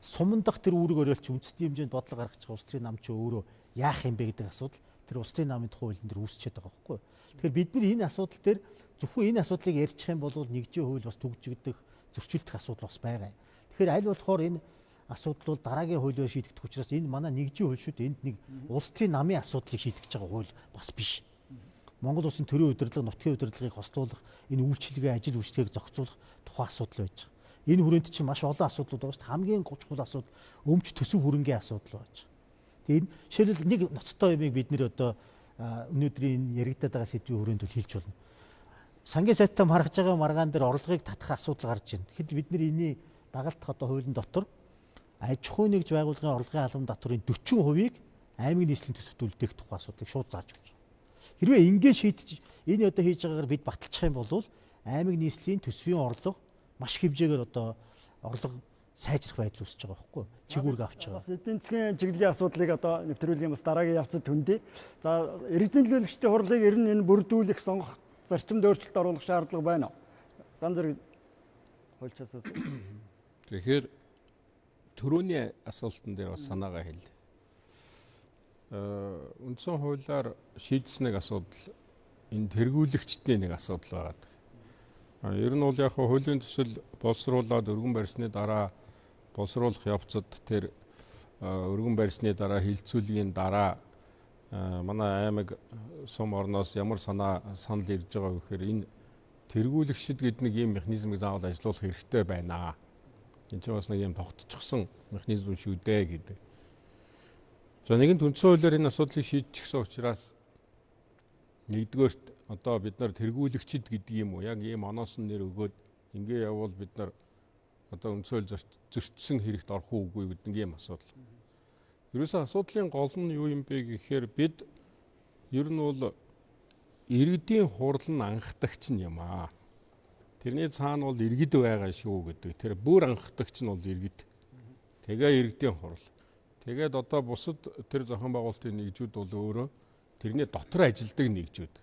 суман дахь тэр үүрэг оролцож үндэсний хэмжээнд бодлого гаргаж байгаа улс төрийн нам ч өөрөө яах юм бэ гэдэг асуудал тэр улс төрийн намын тухай хуулийн дээр үүсчихэд байгаа байхгүй. Тэгэхээр бид нар энэ асуудал дээр зөвхөн энэ асуудлыг ярьчих юм бол нэгжийн хууль бас төгжигдөх, зөрчилдөх асуудал бас байгаа. Тэгэхээр аль болохоор энэ асуудал бол дараагийн хуулиар шийдэгдэх учраас энэ манай нэгжийн хууль шүү дээ. Энд нэг улс төрийн намын асуудлыг шийдэж байгаа хууль бас биш. Монгол улсын төрийн удирдлага, нутгийн удирдлагыг хослуулах, энэ үйлчилгээ, ажил үйлчлэгийг зохицуулах тухай асуудал байж байгаа. Энэ хүрээнд чинь маш олон асуудлууд байгаа шүү дээ. Хамгийн чухал асуудал өмч төсөв хөрөнгийн асуудал байж байгаа. Тэгээ энэ жишээлбэл нэг ноцтой юмыг бид нэр одоо өнөөдрийн яригдаад байгаа сэдвийн хүрээнд бол хэлж болно. Сангийн сайттай маргаж байгаа маргаан дээр орлогыг татах асуудал гарч байна. Тэгэхэд бид нар энийг дагалдах одоо хуулийн дотор аж ахуй нэгж байгууллагын орлогын албан татврын дөрвөн хувийг аймгийн нийслэлийн төсөвт үлдээх тухай асуудлыг шууд зааж өгч байгаа. Хэрвээ ингэ шийдэж энэ одоо хийж байгаагаар бид баталчих юм бол аймаг нийслэлийн төсвийн орлого маш их хэмжээгээр одоо орлого сайжрах байдал үүсэж байгаа байхгүй чигүүрг авч байгаа. Бас эдийн засгийн чиглэлийн асуудлыг одоо нэвтрүүлгийн бас дараагийн явцад хөндий. За иргэдийн төлөөлөгчдийн хурлыг ер нь энэ бүрдүүлэх, сонгох, зарчимд өөрчлөлт оруулах шаардлага байна уу? Дан зэрэг хуульчаасаас. Тэгэхээр төрөний асуултан дээр бас санаагаа хэлье. Э үндсэн хуулиар шийдсэн нэг асуудал энэ тэргүүлэгчдийн нэг асуудал байгаа. А ер нь бол яг хуулийн төсөл боловсруулаад өргөн барьсны дараа боловсруулах явцад тэр өргөн барьсны дараа хилцүүлгийн дараа манай аймаг сум орноос ямар санаа санал ирж байгаа вэ гэхээр энэ тэргүүлэгчд гэдэг нэг ийм механизмыг заавал ажиллуулах хэрэгтэй байна. Энэ ч бас нэг ийм тогтчихсон механизм шүү дээ гэдэг. За нэгэн үндсэн хуулиар энэ асуудлыг шийдчихсэн учраас нэгдүгээрт одоо бид нар тэргүүлэгчд гэдэг юм уу яг ийм оноосон нэр өгөөд ингээ явбал бид нар одоо үндсэн хууль зөрчсөн хэрэгт орох уугүй гэдэг ийм асуудал. Ерөөсөө асуудлын гол нь юу юм бэ гэхээр бид ер нь бол иргэдийн хурал нь анхдагч нь юм аа. Тэрний цаана бол иргэд байгаа шүү гэдэг. Тэр бүр анхдагч нь бол иргэд. Тэгээ иргэдийн хурал. Тэгээд одоо бусад тэр зохион байгуулалтын нэгжүүд бол өөрөө тэрний дотор ажилладаг нэгжүүд.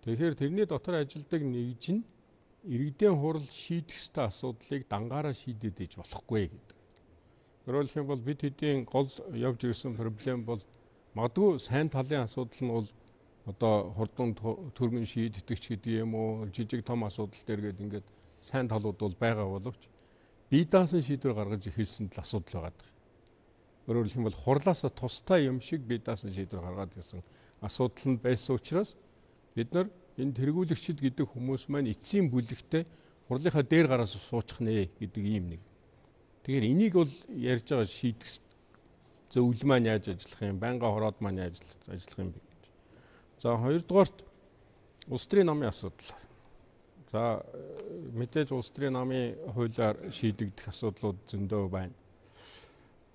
Тэгэхээр тэрний дотор ажилладаг нэгж нь иргэдийн хурал шийдэх ёстой асуудлыг дангаараа шийдэж иж болохгүй гэдэг. Өөрөөр хэлбэл бид хэдийн гол явж ирсэн проблем бол магадгүй сайн талын асуудал нь бол одоо хурдан төрмөн шийддэг ч гэдэг юм уу жижиг том асуудал дээр гээд ингээд сайн талууд бол байгаа боловч бие даасан шийдвэр гаргаж эхэлсэн тал асуудал байгаа. Өөрөөр хэлбэл хурлаасаа тустай юм шиг бие даасан шийдвэр гаргаад ирсэн асуудал нь байсан учраас бид нар энэ тэргүүлэгчд гэдэг хүмүүс маань эцсийн бүлэгтээ хурлынхаа дээр гараас суучих нэ гэдэг ийм нэг. Тэгэхээр энийг бол ярьж байгаа шийдэх зөвлөл маань яаж ажиллах юм, байнга хороод маань яаж ажиллах юм бэ гэж. За хоёрдугаарт улс төрийн намын асуудал. За мэдээж улс төрийн намын хуулиар шийдэгдэх асуудлууд зөндөө байна.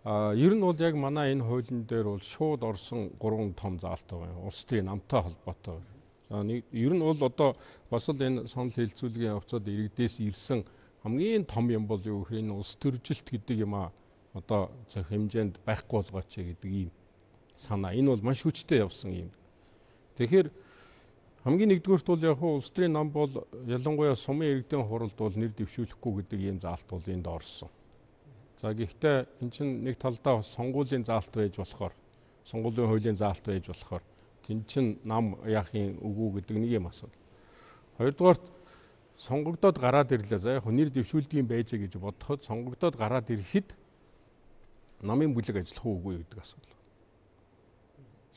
А ер нь бол яг манай энэ хуулийн дээр бол шууд орсон гурван том заалт байгаа. Улс төрийн намтай холбоотой. За нэг ер нь бол одоо бас л энэ санал хэлцүүлгийн явцад иргэдээс ирсэн хамгийн том юм бол юу гэхээр энэ улс төржилт гэдэг юм а одоо зөв хэмжээнд байхгүй болгооч гэдэг ийм санаа. Энэ бол маш хүчтэй явсан юм. Тэгэхээр хамгийн нэгдүгüүрт бол яг улс төрийн нам бол ялангуяа сумын иргэдийн хуралд бол нэр дэвшүүлэхгүй гэдэг ийм заалт бол энд орсон. За гэхдээ эн чинь нэг талдаа сонгуулийн заалт байж болохоор сонгуулийн хуулийн заалт байж болохоор тэн чин нам яахын үгүй гэдэг нэг юм асуудал. Хоёрдугаарт сонгогдоод гараад ирлээ. За яг нэр дэвшүүлдэг юм байж гэж бодоход сонгогдоод гараад ирэхэд намын бүлэг ажиллах уугүй гэдэг асуудал.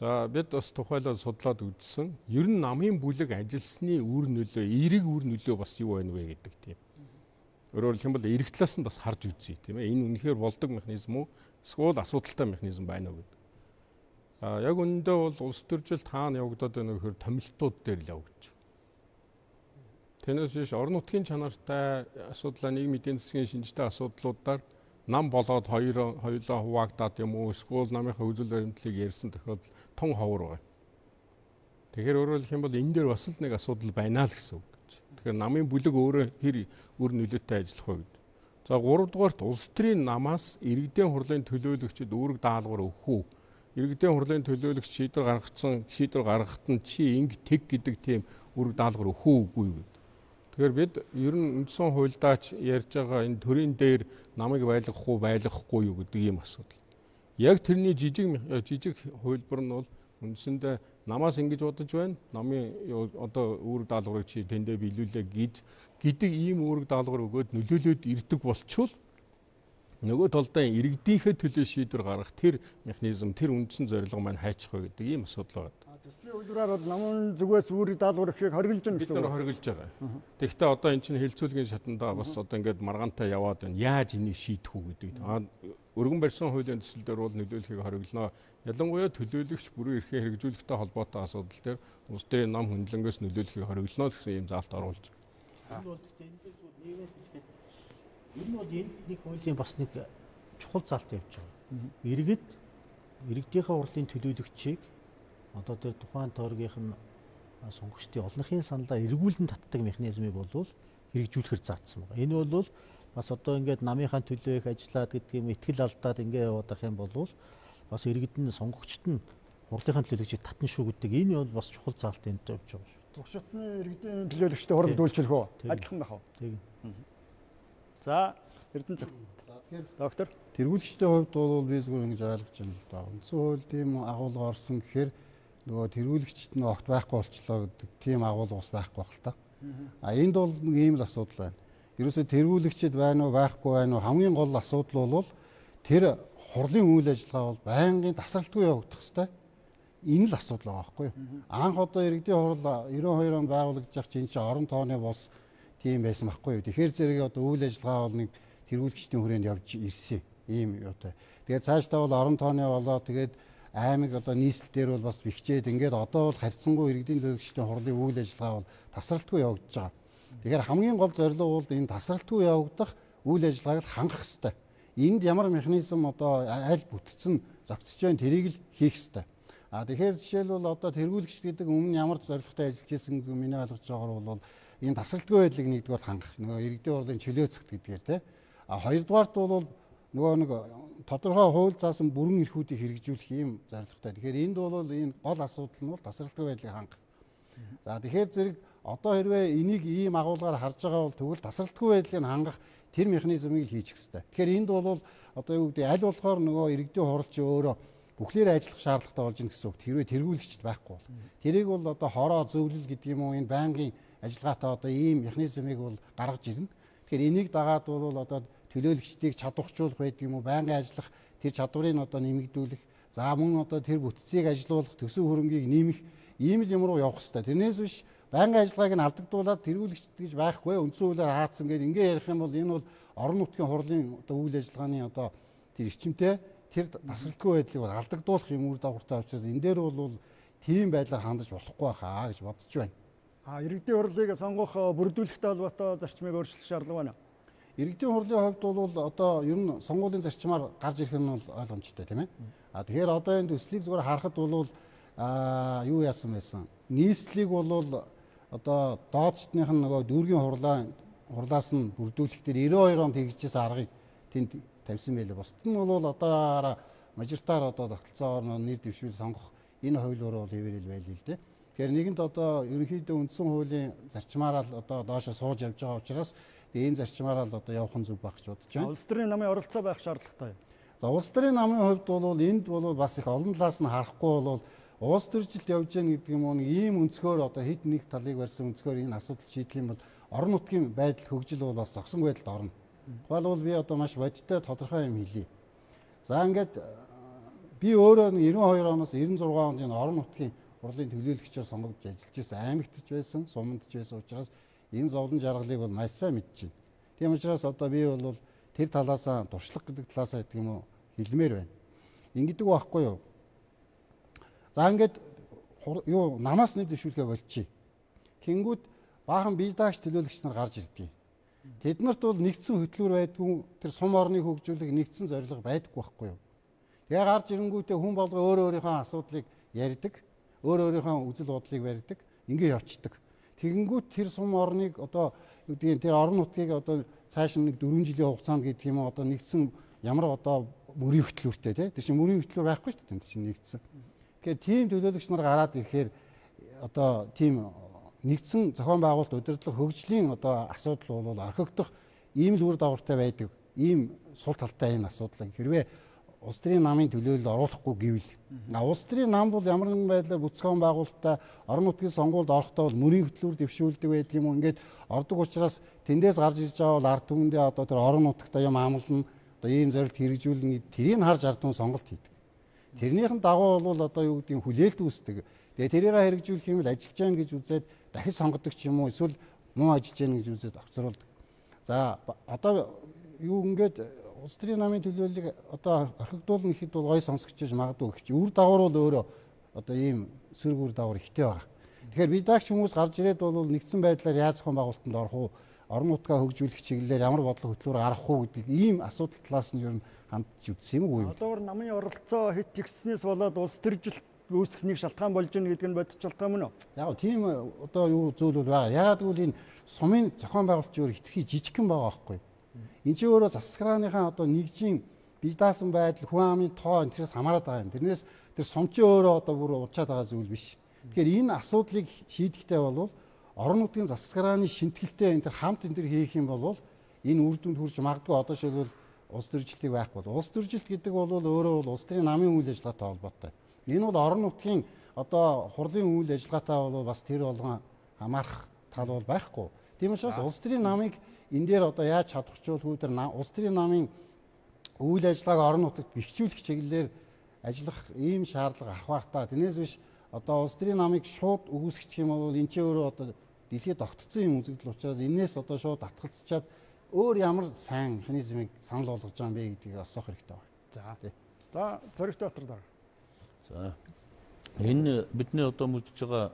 За бид бас тухайлбал судлаад үзсэн. Ер нь намын бүлэг ажилласны үр нөлөө, эерэг үр нөлөө бас юу байна вэ гэдэг тийм. Өөрөөр хэлбэл эрэг талаас нь бас харж үзье тийм ээ. Энэ үнэхээр болдог механизм уу? Эсвэл асуудалтай механизм байна уу гэдэг. А яг үүндээ бол улс төржилт хаана явагдаад байна вэ гэхээр томилтууд дээр л явагдаж. Тэнэс биш орон нутгийн чанартай асуудлаа нийгмийн эдийн засгийн шинжтэй асуудлуудаар нам болоод хоёр хоёулаа хуваагдаад юм уу? Эсвэл намынхаа үзэл баримтлалыг ярьсан тохиолдол тун ховор байна. Тэгэхээр өөрөөр хэлбэл энэ дээр бас л нэг асуудал байна л гэсэн үг. Тэгэхээр намын бүлэг өөрөө хэр үр нөлөөтэй ажиллах вэ гэдэг. За гуравдугаарт улс төрийн намаас иргэдийн хурлын төлөөлөгчид үүрэг даалгавар өгөх үү? Иргэдийн хурлын төлөөлөгч шийдвэр гаргацсан шийдвэр гаргахад нь чи инг тэг гэдэг тийм үүрэг даалгавар өгөх үгүй юу? Тэгэхээр бид ер нь үндсэн хуульдаач ярьж байгаа энэ төрийн дээр намыг байлгах уу байлгахгүй юу гэдэг ийм асуудал. Яг тэрний жижиг жижиг хувилбар нь бол үндсэндээ намаас ингэж бодож байна. Намын одоо үүрэг даалгаврыг чи тэндээ биелүүлээ гэж гэдэг ийм үүрэг даалгавар өгөөд нөлөөлөд ирдэг болчвол нөгөө талдаа иргэдийнхээ төлөө шийдвэр гаргах тэр механизм тэр үндсэн зорилго маань хайчих вэ гэдэг ийм асуудал байна. Төслийн үйлрээр бол намын зүгээс үүрэг даалгавар ихийг хоригдж байна гэсэн үг. Бид нар хоригдж байгаа. Тэгэхдээ одоо эн чинь хэлцүүлгийн шатандаа бас одоо ингээд маргаантай яваад байна. Яаж энийг шийдэх үү гэдэг. Аа өргөн барьсан хуулийн төсөл дээр бол нөлөөлөхийг хориглоно. Ялангуяа төлөөлөгч бүрэн эрхээ хэрэгжүүлэхтэй холбоотой асуудал дээр улс төрийн нам хөндлөнгөөс нөлөөлөхийг хориглоно гэсэн ийм заалт оруулж байгаа. Энэ бол гэхдээ эндээс бол нэгээс хэлэхэд ер нь бол энэ нэг хуулийн бас нэг чухал заалт явж байгаа. Иргэд иргэдийнхээ хурлын төлөөлөгчийг одоо тэр тухайн тойргийнх нь сонгогчдын олонхын саналаа эргүүлэн татдаг механизмыг бол хэрэгжүүлэхээр заасан байна. Энэ бол бас одоо ингээд намынхаа төлөө их ажиллаад гэдэг юм ихтгэл алдаад ингээд яваад ах юм бол бас иргэдэн сонгогчд нь хурлынхаа төлөөлөгчийг татна шүү гэдэг энэ бол бас чухал заалт энд тавьж байгаа шүү. Туршилтны иргэдийн төлөөлөгчтэй хурд үйлчлэх үү? Адилхан байх уу? Тийм. За, Эрдэнэ цагт. Доктор Тэргүүлэгчдийн хувьд бол би зүгээр ингэж ойлгож байна л да. Үндсэн хууль тийм агуулга орсон гэхээр нөгөө тэргүүлэгчд нь огт байхгүй болчлоо гэдэг тийм агуулга бас байхгүй байх л та. А энд бол нэг ийм л асуудал байна. Ерөөсөө тэргүүлэгчд байна уу байхгүй байна уу хамгийн гол асуудал бол тэр хурлын үйл ажиллагаа бол байнгын тасралтгүй явагдах хэрэгтэй. Энэ л асуудал байгаа байхгүй юу? Анх одоо иргэдийн хурл девяносто хоёр онд байгуулагдаж чинь чинь орон тооны бос тийм байсан байхгүй юу? Тэгэхээр зэрэг одоо үйл ажиллагаа бол нэг тэргүүлэгчдийн хүрээнд явж ирсэн ийм юутай. Тэгээд цаашдаа бол орон тооны болоо тэгээд аймаг одоо нийслэл дээр бол бас бэхжээд ингээд одоо бол харьцангуй иргэдийн төлөөлөгчдийн хурлын үйл ажиллагаа бол тасралтгүй явагдаж байгаа. Тэгэхээр хамгийн гол зорилго бол энэ тасралтгүй явагдах үйл ажиллагааг хангах хэрэгтэй. Энд ямар механизм одоо аль бүтцэн зохицож байна тэрийг л хийх хэрэгтэй. А тэгэхээр жишээлбэл одоо тэргүүлэгч гэдэг өмнө ямар зорилготой ажиллаж байсан гэдэг миний ойлгож байгаагаар бол энэ тасралтгүй байдлыг нэгдүгээр хангах нөгөө иргэдийн хурлын чөлөөцөх гэдгээр те. А хоёрдугаарт бол нөгөө нэг тодорхой хууль заасан бүрэн эрхүүдийг хэрэгжүүлэх ийм зорилготой. Тэгэхээр энд бол энэ гол асуудал нь бол тасралтгүй байдлыг хангах. За тэгэхээр зэрэг одоо хэрвээ энийг ийм агуулгаар харж байгаа бол тэгвэл тасралтгүй байдлыг хангах тэр механизмыг л хийчих хэрэгтэй. Тэгэхээр энд бол одоо юу гэдэг аль болохоор нөгөө иргэдийн хуралч өөрөө бүхлээр ажиллах шаардлагатай болж ийн гэсэн үг. Хэрвээ тэргүүлэгчд байхгүй бол тэрийг бол одоо хороо зөвлөл гэдэг юм уу энэ байнгын ажиллагаатай одоо ийм механизмыг бол гаргаж ирнэ. Тэгэхээр энийг дагаад бол одоо төлөөлөгчдийг чадварчуулах байдаг юм уу байнгын ажиллах тэр чадварыг одоо нэмэгдүүлэх за мөн одоо тэр бүтцийг ажилуулах төсөв хөрөнгийг нэмэх ийм л юм руу явах хэрэгтэй. Тэрнээс биш байнгын ажиллагааг нь алдагдуулаад тэргүүлэгчд гэж байхгүй үндсэн хуулиар хаацсан гэдэг ингээ ярих юм бол энэ бол орон нутгийн хурлын одоо үйл ажиллагааны одоо тэр эрчимтэй тэр тасралтгүй байдлыг бол алдагдуулах юм үр дагавартай учраас энэ дээр бол тийм байдлаар хандаж болохгүй хаа гэж бодож байна. А иргэдийн хурлыг сонгох бүрдүүлэхтэй холбоотой зарчмыг өөрчлөх шаардлага байна. Иргэдийн хурлын хувьд бол одоо ер нь сонгуулийн зарчмаар гарч ирэх нь бол ойлгомжтой тийм ээ. А тэгэхээр одоо энэ төслийг зүгээр харахад бол а юу яасан байсан. Нийслэлийг бол одоо доодчдных нь нөгөө дүүргийн хурлаа хурлаас нь бүрдүүлэх дээр девяносто хоёр онд хэрэгжижсэн аргыг тэнд тавьсан байлээ. Бусд нь бол одоо мажоритар одоо тогтолцоогоор нэр дэвшүүл сонгох энэ хуулиуруу бол хэвээрэл байлээ л дээ. Тэгэхээр нэгэнт одоо ерөнхийдөө үндсэн хуулийн зарчмаараа л одоо доошо сууж явж байгаа учраас энэ зарчмаараа л одоо явах нь зүг байх гэж бодож байна. Улс төрийн намын оролцоо байх шаардлагатай. За улс төрийн намын хувьд бол энд бол бас их олон талаас нь харахгүй бол улс төржилт явж гэнэ гэдэг юм уу ийм өнцгөр одоо хэд нэг талыг барьсан өнцгөр энэ асуудал шийдэх юм бол орон нутгийн байдал хөгжил бол бас зогсон байдалд орно. Тухайлбал би одоо маш бодиттой тодорхой юм хэлье. За ингээд би өөрөө девяносто хоёр оноос девяносто шесть онд энэ орон нутгийн хурлын төлөөлөгчөөр сонгогдож ажиллаж байсан, аймагтж байсан, сумандж байсан учраас энэ зовлон жаргалыг бол маш сайн мэдж байна. Тийм учраас одоо би бол тэр талаасаа туршлага гэдэг талаасаа гэдэг юм уу хэлмээр байна. Ингэдэг байхгүй юу? За ингээд юу намаас нэг дэвшүүлгээ болчих. Тэнгүүд баахан бие даагч төлөөлөгч нар гарч ирдэг. Тэд нарт бол нэгдсэн хөтөлбөр байдгүй тэр сум орныг хөгжүүлэх нэгдсэн зорилго байдаггүй байхгүй юу? Тэгээ гарч ирэнгүүтээ хүн болго өөр өөрийнхөө асуудлыг ярьдаг, өөр өөрийнхөө үзэл бодлыг барьдаг, ингээ явцдаг. Тэгэнгүүт тэр сум орныг одоо юу гэдгийг тэр орон нутгийг одоо цааш нэг дөрвөн жилийн хугацаанд гэдэг юм уу одоо нэгдсэн ямар одоо мөрийн хөтөлбөртэй тий. Тэр чинь мөрийн хөтөлбөр байхгүй шүү дээ. Тэр чинь нэгдсэн. Тэгэхээр тийм төлөөлөгч нар гараад ирэхээр одоо тийм нэгдсэн зохион байгуулалт удирдлага хөгжлийн одоо асуудал бол орхигдох ийм л үр дагавартай байдаг. Ийм сул талтай энэ асуудлыг хэрвээ улс төрийн намын төлөөлөлд оруулахгүй гэвэл улс төрийн нам бол ямар нэгэн байдлаар бүтэцгэн байгуулалтаа орон нутгийн сонгуульд орохдоо бол мөрийн хөтөлбөр дэвшүүлдэг байдаг юм уу ингээд ордог учраас тэндээс гарч ирж байгаа бол ард түмэндээ одоо тэр орон нутагтаа юм амлна одоо ийм зорилт хэрэгжүүлнэ тэрийг харж ард түмэн сонголт хийдэг. Тэрнийхэн дагуу бол одоо юу гэдгийг хүлээлт үүсдэг. Тэгээ тэрийг хэрэгжүүлэх юм бол ажиллаж байгаа гэж үзээд дахиж сонгодог ч юм уу эсвэл муу ажиллаж байгаа гэж үзээд огцруулдаг. За одоо юу ингээд улс төрийн намын төлөөллийг одоо орхигдуулна гэхэд бол гой сонсогчж магадгүй гэх чи үр дагавар бол өөрөө одоо ийм сөрөг үр дагавар ихтэй байгаа. Тэгэхээр бид даагч хүмүүс гарч ирээд бол нэгдсэн байдлаар яаж зохион байгуулалтанд орох уу, орон нутгаа хөгжүүлэх чиглэлээр ямар бодлого хөтөлбөр гаргах уу гэдэг ийм асуудал талаас нь ер нь хандж үзсэн юм уу? Одоор намын оролцоо хэд ихснээс болоод улс төржилт үүсэх нэг шалтгаан болж ийн гэдэг нь бодит шалтгаан мөн үү? Яг тийм одоо юу зүйл бол байгаа. Ягаад гэвэл энэ сумын зохион байгуулалт өөр хитрхи жижигхэн байгаа байхгүй. Энд чинь өөрөө засаглааныхаа одоо нэгжийн бие даасан байдал, хүн амын тоо энэс хамаарат байгаа юм. Тэрнээс тэр сумчин өөрөө одоо бүр уучаад байгаа зүйл биш. Тэгэхээр энэ асуудлыг шийдэхдээ бол орон нутгийн засаглааны шинтгэлтэй энэ хамт энэ хийх юм бол энэ үр дүнд хүрч магадгүй одоо шилбэл улс төржилтийг байхгүй бол улс төржилт гэдэг бол өөрөө бол улс төрийн намын үйл ажиллагаатай холбоотой. Энэ бол орон нутгийн одоо хурлын үйл ажиллагаатай бол бас тэр болгон хамаарах тал бол байхгүй. Тийм учраас улс төрийн намыг энэ дээр одоо яаж чадахчулгүй тэр улс төрийн намын үйл ажиллагааг орон нутагт бэхжүүлэх чиглэлээр ажиллах ийм шаардлага арах байх та. Тэрнээс биш одоо улс төрийн намыг шууд өгөөсгөх юм бол энэ ч өөрөө одоо дэлхийд тогтцсон юм үзэгдэл учраас энээс одоо шууд атгалцчаад өөр ямар сайн механизмыг санал болгож байгаа юм бэ гэдгийг асуух хэрэгтэй байна. За. За Зоригт Баатар дараа. За. Энэ бидний одоо мэдж байгаа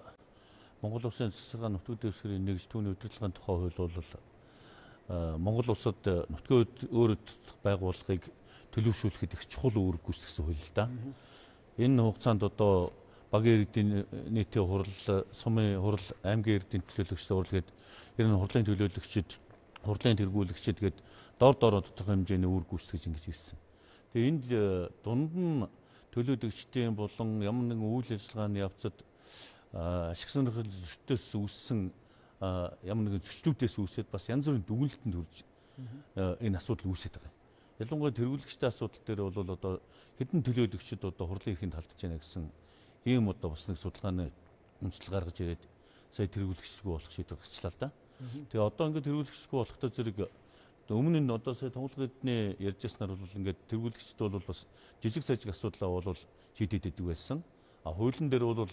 Монгол Улсын засаглаа нутгийн дэвсгэрийн нэгж түүний удирдлагын тухай хууль бол Монгол улсад нутгийн өөрөд байгууллагыг төлөвшүүлэхэд их чухал үүрэг гүйцэтгэсэн хууль л да. Энэ хугацаанд одоо багийн иргэдийн нийтийн хурал, сумын хурал, аймгийн иргэдийн төлөөлөгчд урлагэд ер нь хурлын төлөөлөгчд, хурлын тэргүүлэгчд гээд дор дороо тодорхой хэмжээний үүрэг гүйцэтгэж ингэж ирсэн. Тэгээ энд дунд нь төлөөлөгчдийн болон ямар нэгэн үйл ажиллагааны явцад ашиг сонирхол зөрчтөөс үүссэн ямар нэгэн зөрчлүүдээс үүсээд бас янз бүрийн дүгнэлтэнд хүрж энэ асуудал үүсэж байгаа. Ялангуяа тэргүүлэгчтэй асуудал дээр бол одоо хэдэн төлөөлөгчд одоо хурлын эрхэнд халдж байна гэсэн ийм одоо бас нэг судалгааны үндэслэл гаргаж ирээд сая тэргүүлэгчгүй болох шийдвэр гарчлаа л да. Тэгээ одоо ингээд тэргүүлэгчгүй болохтой зэрэг өмнө нь одоо сая тунгалаг эдний ярьж яснаар бол ингээд тэргүүлэгчд бол бас жижиг сажиг асуудлаа бол шийдэд идэг байсан. А хуулийн дээр бол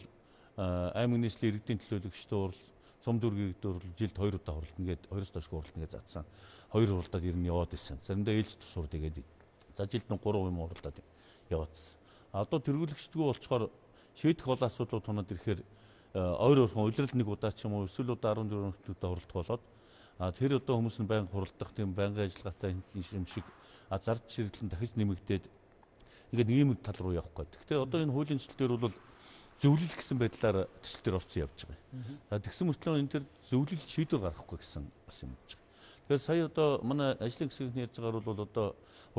аймаг нийслэлийн иргэдийн төлөөлөгчдөө урал, сум дүүргийн иргэдээр бол жилд хоёр удаа хуралдана ингээд хоёроос доош хуралдана гэж заасан. Хоёр хуралдаад ер нь яваад байсан. Заримдаа ээлж тусуур тэгээд за жилд нь гурав юм хуралдаад яваадсан. Одоо тэргүүлэгчдгүй болчоор шийдэх бол асуудлууд тунаад ирэхээр ойр ойрхон улирал нэг удаа ч юм уу эсвэл удаа арван дөрвөн удаа хуралдах болоод а тэр одоо хүмүүс нь байнга хуралдах тийм байнгын ажиллагаатай юм шиг а зард ширэглэн дахиж нэмэгдээд ингээд ийм тал руу явах гээд. Гэхдээ одоо энэ хуулийн төсөл дээр бол зөвлөл гэсэн байдлаар төсөл дээр орсон явж байгаа. А тэгсэн мөртлөө энэ төр зөвлөл шийдвэр гаргахгүй гэсэн бас юм болж байгаа. Тэгэхээр сая одоо манай ажлын хэсгийн ярьж байгаагаар бол одоо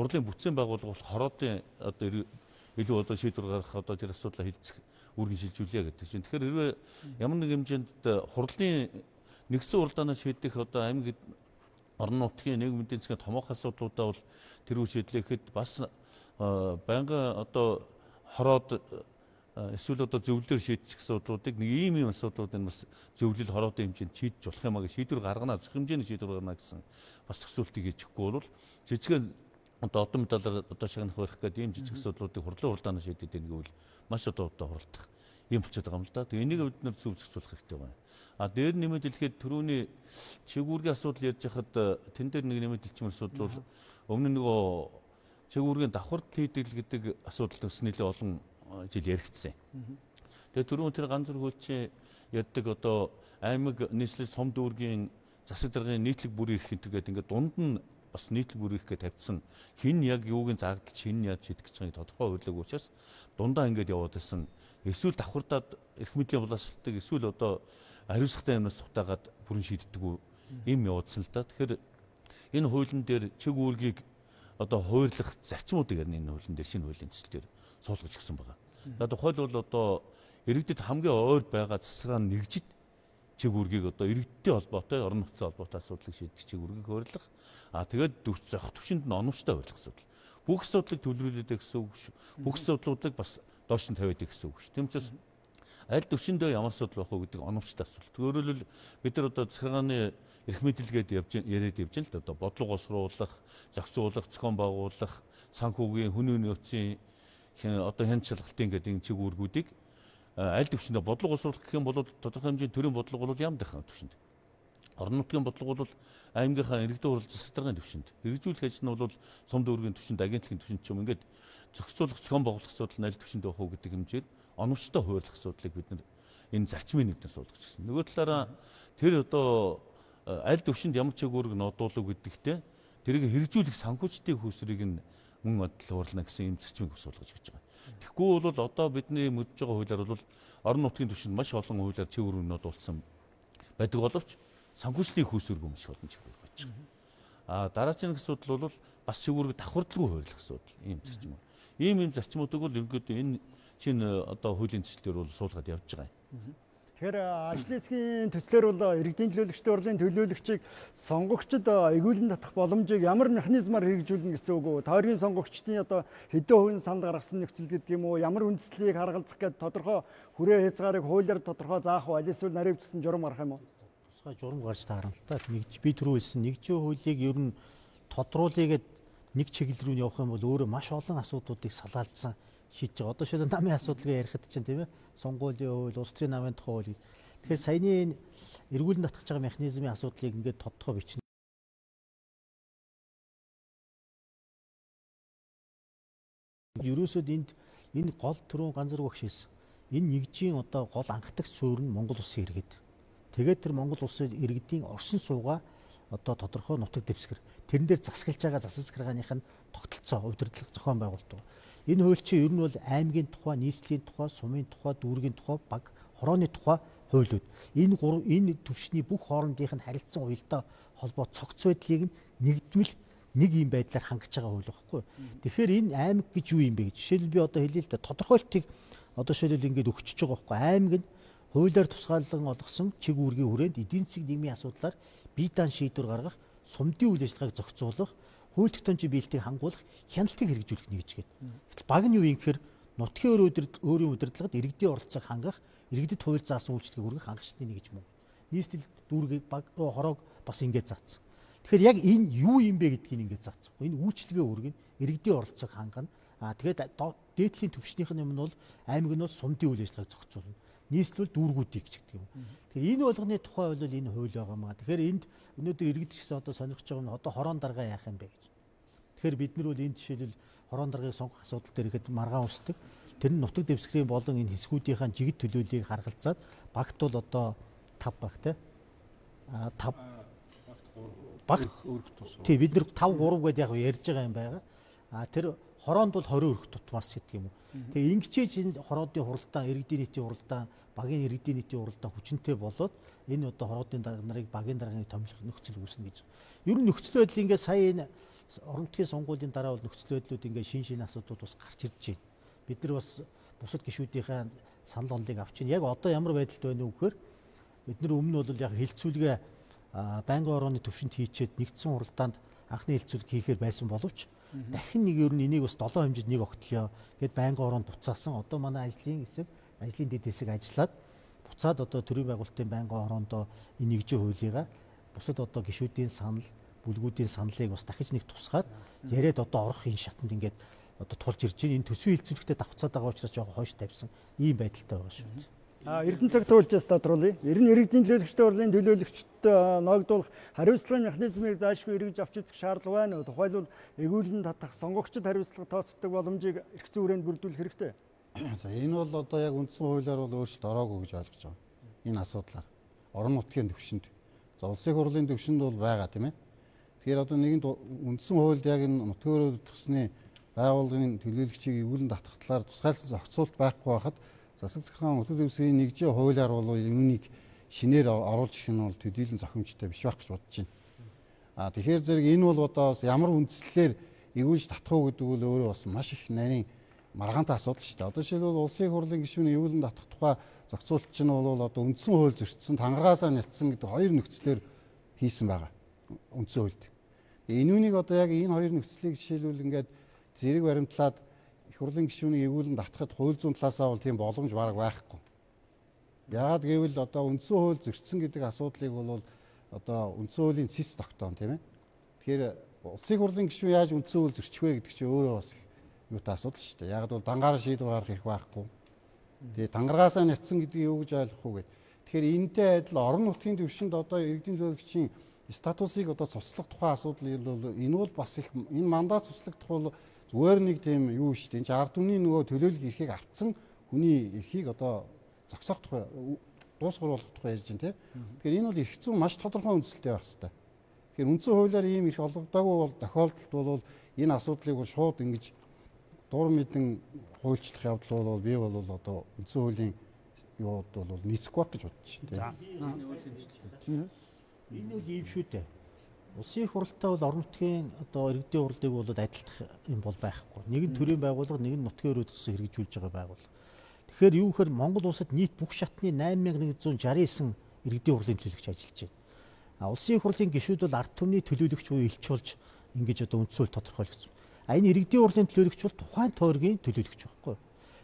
хурлын бүтцийн байгууллага бол хороодын одоо илүү одоо шийдвэр гаргах одоо тэр асуудлаа хилцэх үүргийн шилжүүлье гэдэг чинь. Тэгэхээр хэрвээ ямар нэг хэмжээнд хурлын нэгдсэн уралдаанаас шийдэх одоо аймаг орон нутгийн нийгмийн эдийн засгийн томоохон асуудлуудаа бол тэр үе шийдлэхэд бас байнгын одоо хороод эсвэл одоо зөвлөлөөр шийдчих асуудлуудыг нэг ийм ийм асуудлуудыг бас зөвлөл хороодын хэмжээнд шийдэж болох юм а гэж шийдвэр гаргана, зөх хэмжээний шийдвэр гаргана гэсэн бас төсөөлтийг хийчихгүй бол жижигхэн одоо одон медалаар одоо шагнах байх гэдэг ийм жижиг асуудлуудыг хурлын уралдаанаар шийдэд байгаа гэвэл маш одоо одоо хуралдах юм болчиход байгаа юм л да. Тэгээ энийг бид нэр зөв зохицуулах хэрэгтэй байна. А дээр нэмээд хэлэхэд түрүүний чигүүргийн асуудал ярьж хахад тэн дээр нэг нэмээд хэлчмээр асуудал бол өмнө нөгөө чигүүргийн давхарт хийдэг гэдэг асуудал төс нэлээ олон жил яригдсан. Тэгээ түрүүн тэр ганц зүрх хөлчийн ярьдаг одоо аймаг нийслэл сум дүүргийн засаг даргын нийтлэг бүрийн эрх гэдэг ингээд дунд нь бас нийтлэг бүрийн эрхгээ тавьсан хин яг юугийн заагдал хин яаж шийдэх гэж байгааг тодорхой хурлаг учраас дундаа ингээд яваад байсан. Эсвэл давхардаад эрх мэдлийн боловсролтыг эсвэл одоо хариуцлагатай юмнаас сутаагаад бүрэн шийддэг юм явуулсан л да. Тэгэхээр энэ хуулийн дээр чиг үүргийг одоо хуурлах зарчмуудыг энэ хуулийн дээр шинэ хуулийн төсөл дээр суулгаж өгсөн байгаа. За тухайл бол одоо иргэдэд хамгийн ойр байгаа засаглаа нэгжид чиг үүргийг одоо иргэдтэй холбоотой, орон нутгийн холбоотой асуудлыг шийдэх чиг үүргийг хуурлах. А тэгээд зохих төвшөнд нь оновчтой хуурлах асуудал. Бүх асуудлыг төлөвлөлөөд гэсэн үг шүү. Бүх асуудлуудыг бас доош нь тавиад гэсэн үг шүү. Тийм учраас аль төвшөндөө ямар асуудал байх вэ гэдэг оновчтой асуудал. Өөрөөр хэлбэл бид нар одоо засаглааны эрх мэдэлгээд явж яриад явж л да одоо бодлого осруулах, зохицуулах, зохион байгуулах, санхүүгийн хүний нөөцийн одоо хяналт шалгалтын гэдэг энэ чиг үүргүүдийг аль төвшөндөө бодлого осруулах гэх юм бол тодорхой хэмжээний төрийн бодлого бол ямар дэх төвшөнд. Орон нутгийн бодлого бол аймгийнхаа иргэдийн хурал засаг даргын төвшөнд. Хэрэгжүүлэх ажил нь бол сум дүүргийн төвшөнд, агентлагийн төвшөнд ч юм ингээд зохицуулах, зохион байгуулах асуудал нь аль төвшөнд байх уу гэдэг хэмжээд оновчтой хуурлах асуудлыг бид нар энэ зарчмын нэгдээр суулгаж гисэн. Нөгөө талаараа тэр одоо аль төвшөнд ямар чиг үүрэг нодуулах гэдэгтээ тэрийг хэрэгжүүлэх санхүүжтийн хөөсрийг нь мөн адил хуурлна гэсэн юм зарчмыг суулгаж гэж байгаа. Тэгэхгүй бол одоо бидний мэдж байгаа хуулиар бол орон нутгийн түвшинд маш олон хуулиар цэвэр өргөнөд дуулсан байдаг боловч санхүүжлийн хүйсвэргүй маш олон цэвэр өргөж байгаа. А дараагийн асуудал бол бас цэвэрэг давхардлагүй хууль асуудал ийм зарчим. Ийм ийм зарчмуудыг бол ерөнхийдөө энэ шинэ одоо хуулийн төслөөр бол суулгаад явж байгаа юм. Тэгэхээр ажлын хэсгийн төслөөр бол иргэдийн төлөөлөгчдийн урлын төлөөлөгчийг сонгогчдод эгүүлэн татах боломжийг ямар механизмаар хэрэгжүүлнэ гэсэн үг үү? Тойргийн сонгогчдын одоо хэдэн хувийн санд гаргасан нөхцөл гэдэг юм уу? Ямар үндслийг харгалзах гэдэг тодорхой хүрээ хязгаарыг хуулиар тодорхой заах уу? Аль эсвэл наривчсан журам гарах юм уу? Тусгай журам гарч таарна л та. Нэгж би түрүү хэлсэн нэгжийн хуулийг ер нь тодруулъя гэд нэг чиглэл рүү явах юм бол өөрөө маш олон асуудлуудыг салаалдсан шийдэж байгаа. Одоо шилэн намын асуудлыг ярихад чинь тийм ээ. Сонгуулийн хууль, улс төрийн намын тухай хууль. Тэгэхээр саяны эргүүлэн татгах байгаа механизмын асуудлыг ингээд тодтогоо бичнэ. Ерөөсөд энд энэ гол түрүүн ганц зэрэг багш хэлсэн. Энэ нэгжийн одоо гол анхдагч суурь нь Монгол улсын иргэд. Тэгээд тэр Монгол улсын иргэдийн оршин суугаа одоо тодорхой нутаг дэвсгэр. Тэрэн дээр засаглаж байгаа засаг захиргааных нь тогтолцоо удирдлага зохион байгуулалт. Энэ хууль чинь ер нь бол аймгийн тухай, нийслэлийн тухай, сумын тухай, дүүргийн тухай, баг, хорооны тухай хуулиуд. Энэ гурав энэ төвшний бүх хоорондынх нь харилцан уялдаа холбоо цогц байдлыг нэгдмэл нэг юм байдлаар хангаж байгаа хууль байхгүй. Тэгэхээр энэ аймаг гэж юу юм бэ гэж. Жишээлбэл би одоо хэлээ л да тодорхойлтыг одоо жишээлбэл ингээд өгчөж байгаа байхгүй. Аймаг нь хуулиар тусгаарлан олгосон чиг үүргийн хүрээнд эдийн засгийн нийгмийн асуудлаар бие даан шийдвэр гаргах, сумдын үйл ажиллагааг зохицуулах, хууль тогтоомжийн биелэлтийг хангуулах хяналтыг хэрэгжүүлэх нэгж гээд. Гэтэл баг нь юу юм гэхээр нутгийн өөрийн удирдлагад иргэдийн оролцоог хангах, иргэдэд хууль заасан үйлчлэгийг хүргэх хангалтын нэгж мөн. Нийслэл дүүргийг баг хороог бас ингээд заасан. Тэгэхээр яг энэ юу юм бэ гэдгийг ингээд заасан. Энэ үйлчлэгээ хүргэн иргэдийн оролцоог хангана. Аа тэгээд дээдлийн төвшнийх нь юм нь бол аймаг нь бол сумдын үйл ажиллагааг зохицуулна. Нийслэл дүүргүүдийг ч гэдэг юм. Тэгэхээр энэ болгоны тухай бол энэ хууль байгаа маа. Тэгэхээр энд өнөөдөр иргэд гэсэн одоо сонирхож байгаа нь одоо хороон даргаа яах юм бэ гэж. Тэгэхээр бид нар бол энэ жишээлбэл хороон даргаыг сонгох асуудал дээр ихэд маргаан усдаг. Тэр нь нутаг дэвсгэрийн болон энэ хэсгүүдийн жигд төлөөллийг харгалзаад багт бол одоо тав баг те. А тав багт өрх тус. Тий бид нар тав гурав гэдээ яг ярьж байгаа юм байгаа. А тэр хороонд бол тwenty өрх тутмаас гэдэг юм уу. Тэгээ ингэчээж энэ хороодын хуралдаан, иргэдийн нийтийн хуралдаан, багийн иргэдийн нийтийн хуралдаан хүчинтэй болоод энэ одоо хороодын дарга нарыг багийн даргаыг томилох нөхцөл үүснэ гэж. Ер нь нөхцөл байдал ингээд сая энэ орон нутгийн сонгуулийн дараа бол нөхцөл байдлууд ингээд шин шин асуудлууд бас гарч ирж байна. Бид нар бас бусад гишүүдийнхээ санал онолыг авч байна. Яг одоо ямар байдалд байна вэ гэхээр бид нар өмнө нь бол яг хилцүүлгээ байнгын орооны төвшөнд хийчээд нэгдсэн хуралдаанд анхны хилцүүлэг хийхээр байсан боловч дахин нэг ер нь энийг бас долоо хэмжээд нэг огтлё гэд байнгын ороонд буцаасан. Одоо манай ажлын хэсэг, ажлын дэд хэсэг ажиллаад буцаад одоо төрийн байгуулалтын байнгын ороондоо энэ нэгжийн хуулийг бусад одоо гишүүдийн санал, бүлгүүдийн саналыг бас дахиж нэг тусгаад яриад одоо орох энэ шатанд ингээд одоо тулж ирж байна. Энэ төсвийн хилцүүлэгтээ давхцаад байгаа учраас жоохон хойш тавьсан ийм байдалтай байгаа шүү дээ. А Эрдэнэ цаг туулжээс тодруулъя. Ер нь иргэдийн төлөөлөгчдийн урлын төлөөлөгчдөд ногдуулах хариуцлагын механизмыг заашгүй эргэж авч үзэх шаардлага байна уу? Тухайлбал эгүүлэн татах сонгогчдод хариуцлага тооцдог боломжийг эрх зүйн хүрээнд бүрдүүлэх хэрэгтэй. За энэ бол одоо яг үндсэн хуулиар бол өөрчлөлт ороогүй гэж ойлгож байгаа. Энэ асуудлаар орон нутгийн төвшөнд, за улсын хурлын төвшөнд бол байгаа тийм ээ. Тэгэхээр одоо нэгэн үндсэн хуульд яг энэ нутгийн төрөлхтсны байгууллагын төлөөлөгчийг эгүүлэн татах талаар тусгайлсан зохицуулт байхгүй байхад засаг захиргаан нутаг дэвсгэрийн нэгжийн хуулиар бол юунийг шинээр оруулж ирэх нь бол төдийлөн зохимжтой биш байх гэж бодож байна. А тэгэхээр зэрэг энэ бол одоо ямар үндслэлээр эгүүлж татах уу гэдэг бол өөрөө бас маш их нарийн маргаантай асуудал шүү дээ. Одоо жишээлбэл улсын хурлын гишүүний эгүүлэн татах тухай зохицуулт чинь бол одоо үндсэн хууль зөрчсөн, тангаргаасаа нялцсан гэдэг хоёр нөхцлөөр хийсэн байгаа. Үндсэн хуульд. Энүүнийг одоо яг энэ хоёр нөхцлийг жишээлбэл ингээд зэрэг баримтлаад их хурлын гишүүнийг эгүүлэн татахад хууль зүйн талаасаа бол тийм боломж бараг байхгүй. Яагаад гэвэл одоо үндсэн хууль зөрчсөн гэдэг асуудлыг бол одоо үндсэн хуулийн цэс тогтоон тийм ээ. Тэгэхээр улсын хурлын гишүүн яаж үндсэн хууль зөрчих вэ гэдэг чинь өөрөө бас юутай асуудал шүү дээ. Яагаад бол дангаараа шийдвэр гаргах их байхгүй. Тэгээ тангаргаасаа нятсан гэдгийг юу гэж ойлгох уу гэд. Тэгэхээр энэтэй адил орон нутгийн төвшөнд одоо иргэдийн төлөөлөгчийн статусыг одоо цуслах тухай асуудал бол энэ бол бас их энэ мандат цуслагдах бол зүгээр нэг тийм юу шүү дээ. Энд ард түмний нөгөө төлөөлөл эрхийг авцсан хүний эрхийг одоо зогсоох тухай дуусгар болгох тухай ярьж байна тийм. Тэгэхээр энэ бол эрх зүйн маш тодорхой үндсэлтэй байх хэрэгтэй. Тэгэхээр үндсэн хуулиар ийм эрх олгодоогүй бол тохиолдолд бол энэ асуудлыг бол шууд ингэж дур мэдэн хуульчлах явдал бол би бол одоо үндсэн хуулийн юуд бол нийцэхгүй байх гэж бодож байна. Энэ бол ийм шүү дээ. Улсын их хурлтай бол орон нутгийн одоо иргэдийн хурлыг бол адилтах юм бол байхгүй. Нэг нь төрийн байгууллага, нэг нь нутгийн өрөөдсөн хэрэгжүүлж байгаа байгууллага. Тэгэхээр юу гэхээр Монгол улсад нийт бүх шатны восемь мянган нэгэн зуун шарсан девять иргэдийн хурлын төлөөлөгч ажиллаж байна. А улсын их хурлын гишүүд бол ард түмний төлөөлөгч буюу элч болж ингэж одоо үндсэн хууль тодорхойлогдсон. А энэ иргэдийн хурлын төлөөлөгч бол тухайн тойргийн төлөөлөгч байхгүй.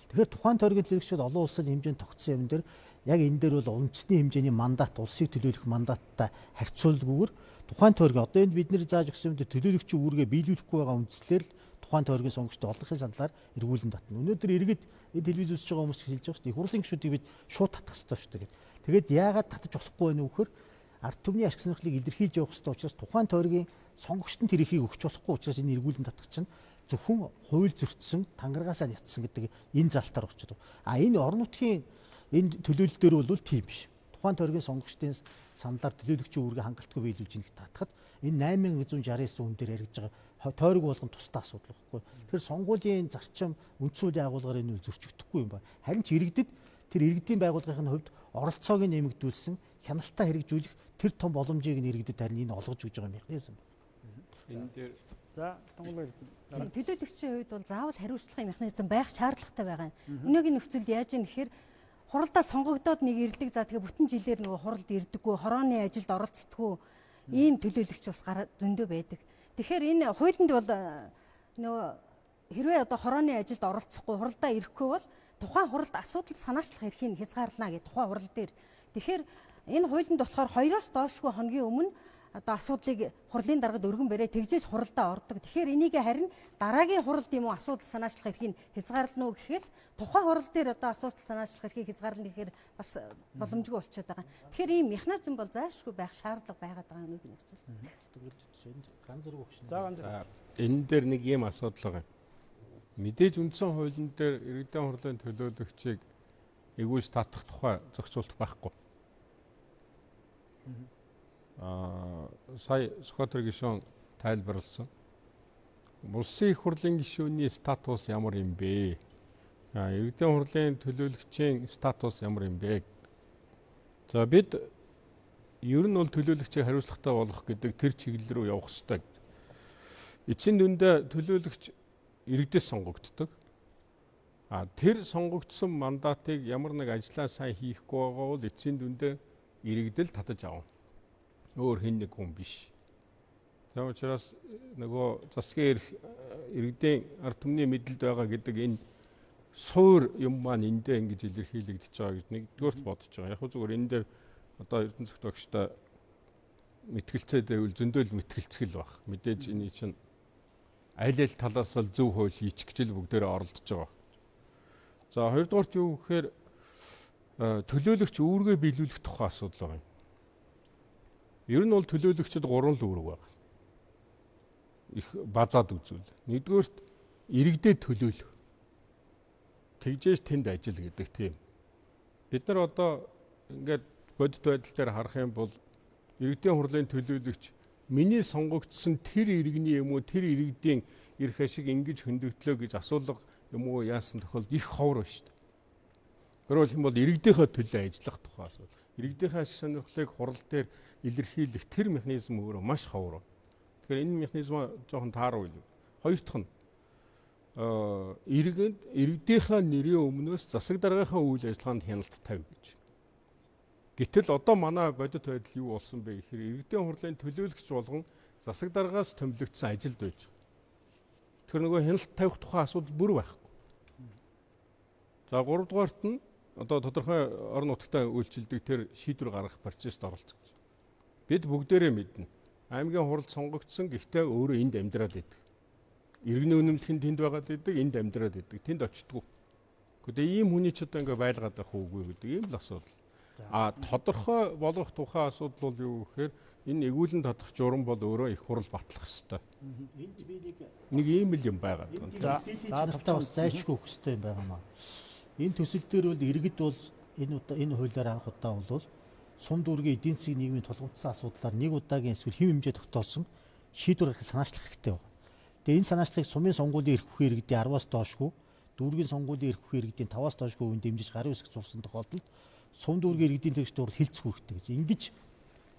Тэгэхээр тухайн тойргийн төлөөлөгч бол олон улсын хэмжээнд тогтсон юм дээр яг энэ дээр бол үндэсний хэмжээний мандат, улсыг төлөөлөх мандаттай харьцуулгүйгээр тухайн тойргийн одоо энд бид нэр зааж өгсөн юм дээр төлөөлөгчийн үүргээ биелүүлэхгүй байгаа үндслээр тухайн тойргийн сонгогчдод олонхын сандлаар эргүүлэн татна. Өнөөдөр иргэд энэ телевиз үзэж байгаа хүмүүс хэлж байгаа шүү дээ. Их хурлын гишүүдийг бид шууд татах хэрэгтэй шүү дээ. Тэгээд яагаад татаж болохгүй вэ нөхөр? Ард түмний ашиг сонирхлыг илэрхийлж явах хэрэгтэй учраас тухайн тойргийн сонгогчдод тэр эрхийг өгч болохгүй учраас энэ эргүүлэн татах чинь зөвхөн хууль зөрчсөн, тангаргаасаа ятсан гэдэг энэ залтаар очиж байгаа. А энэ орон нутгийн энэ төлөөлөл дээр бол тийм биш. Тухайн тойргийн сонгогчдын саналаар төлөөлөгчийн үүргээ хангалтгүй биелүүлж ийнэ татахад энэ восемь мянган нэгэн зуун шарсан девять хүн дээр яригдж байгаа тойрог болгон тусдаа асуудал байхгүй. Тэгэхээр сонгуулийн зарчим үндсэн хуулийн агуулгаар энэ үл зөрчигдөхгүй юм байна. Харин ч иргэдэд тэр иргэдийн байгууллагын хувьд оролцоог нэмэгдүүлсэн, хяналтаа хэрэгжүүлэх тэр том боломжийг нь иргэдэд харин энэ олгож өгж байгаа механизм. Энэ дээр За тонголоо. Төлөөлөгчийн хувьд бол заавал хариуцлагын механизм байх шаардлагатай байгаа юм. Өнөөгийн нөхцөлд яаж юм гэхээр хуралдаа сонгогдоод нэг ирдэг за тэгээ бүтэн жилээр нөгөө хуралд ирдэггүй, хорооны ажилд оролцдоггүй ийм төлөөлөгч бас зөндөө байдаг. Тэгэхээр энэ хуулинд бол нөгөө хэрвээ одоо хорооны ажилд оролцохгүй, хуралдаа ирэхгүй бол тухайн хуралд асуудал санаачлах эрхийг хязгаарлана гэх тухайн хурал дээр. Тэгэхээр энэ хуулинд болохоор хоёроос доошгүй хоногийн өмнө одоо асуудлыг хурлын даргад өргөн бариа тэгжээж хуралдаа ордог. Тэгэхээр энийг харин дараагийн хуралд юм уу асуудал санаачлах эрхийг хязгаарлана уу гэхээс тухайн хурал дээр одоо асуудал санаачлах эрхийг хязгаарлана гэхээр бас боломжгүй болчиход байгаа. Тэгэхээр ийм механизм бол заашгүй байх шаардлага байгаад байгаа юм нэг нөхцөл. Ган зэрэг өгч. За ганц. энэ дээр нэг ийм асуудал байгаа. Мэдээж үндсэн хуулийн дээр иргэдийн хурлын төлөөлөгчийг эгүүлж татах тухай зохицуулт байхгүй. Аа сая Скотер гишүүн тайлбарлсан. Улсын их хурлын гишүүний статус ямар юм бэ? Аа иргэдийн хурлын төлөөлөгчийн статус ямар юм бэ? За бид ер нь бол төлөөлөгчийг хариуцлагатай болгох гэдэг тэр чиглэл рүү явах хэрэгтэй. Эцсийн дүндээ төлөөлөгч иргэдээс сонгогддог. А тэр сонгогдсон мандатыг ямар нэг ажлаа сайн хийхгүй байгаа бол эцсийн дүндээ иргэдэл татаж авна. Өөр хэн нэг хүн биш. Тийм учраас нөгөө засгийн эрх иргэдийн ард түмний мэдлэлд байгаа гэдэг энэ суур юм маань эндээ ингэж илэрхийлэгдэж байгаа гэж нэгдүгээрт бодож байгаа. Яг хөө зүгээр энэ дээр одоо Эрдэнэ цогтөгчтой мэтгэлцээд байвал зөндөөл мэтгэлцгэл баг. Мэдээж энэ чинь аль аль талаас л зөв хууль хийчих гэж л бүгдээрээ оролдож байгаа. За хоёрдугаарт юу гэхээр төлөөлөгч үүргээ биелүүлэх тухай асуудал байна. Ер нь бол төлөөлөгчд гурван л үүрэг байна. Их базаад үзүүл. Нэгдүгээрт иргэдэд төлөөлөх. Тэгжээж тэнд ажил гэдэг тийм. Бид нар одоо ингээд бодит байдал дээр харах юм бол иргэдийн хурлын төлөөлөгч миний сонгогдсон тэр иргэний юм уу тэр иргэдийн эрх ашиг ингэж хөндөгдлөө гэж асуулга юм уу яасан тохиолдолд их ховор байна шүү дээ. Өөрөөр хэлбэл иргэдийнхээ төлөө ажиллах тухай асуудал. Иргэдийнхээ ашиг сонирхлыг хурал дээр илэрхийлэх тэр механизм өөрөө маш ховор. Тэгэхээр энэ механизм жоохон тааруу илүү. Хоёр дахь нь аа иргэд иргэдийнхээ нэрийн өмнөөс засаг даргийнхаа үйл ажиллагаанд хяналт тавь гэж. Гэтэл одоо манай бодит байдал юу болсон бэ гэхээр иргэдийн хурлын төлөөлөгч болгон засаг даргаас томилогдсон ажилд байж байгаа. Тэгэхээр нөгөө хяналт тавих тухай асуудал бүр байхгүй. За гурав дугаарт нь одоо тодорхой орон нутгад үйлчилдэг тэр шийдвэр гаргах процессд оролцох гэж. Бид бүгдээрээ мэднэ. Аймгийн хуралд сонгогдсон гэхдээ өөрөө энд амьдраад байдаг. Иргэний үнэмлэх нь тэнд байгаад байдаг, энд амьдраад байдаг. Тэнд очтгүй. Гэхдээ ийм хүний ч одоо ингээ байлгаад байх уугүй гэдэг ийм л асуудал. А тодорхой болгох тухай асуудал бол юу гэхээр энэ эгүүлэн татах журам бол өөрөө их хурал батлах хэрэгтэй. Энд би нэг нэг ийм л юм байгаа. За наадтай бас зайлшгүй өгөх хэрэгтэй юм байгаа маа. Энэ төсөл дээр бол иргэд бол энэ удаа энэ хуулиар анх удаа бол сум дүүргийн эдийн засгийн нийгмийн тулгымдсан асуудлаар нэг удаагийн эсвэл хэв хэмжээ тогтоосон шийдвэр гаргахыг санаачлах хэрэгтэй байна. Тэгээ энэ санаачлагыг сумын сонгуулийн эрх бүхий иргэдийн араваас доошгүй, дүүргийн сонгуулийн эрх бүхий иргэдийн таваас доошгүй үн дэмжиж гарын үсэг зурсан тохиолдолд сум дүүргийн иргэдийн тэгш дуур хилцэх хэрэгтэй гэж. Ингэж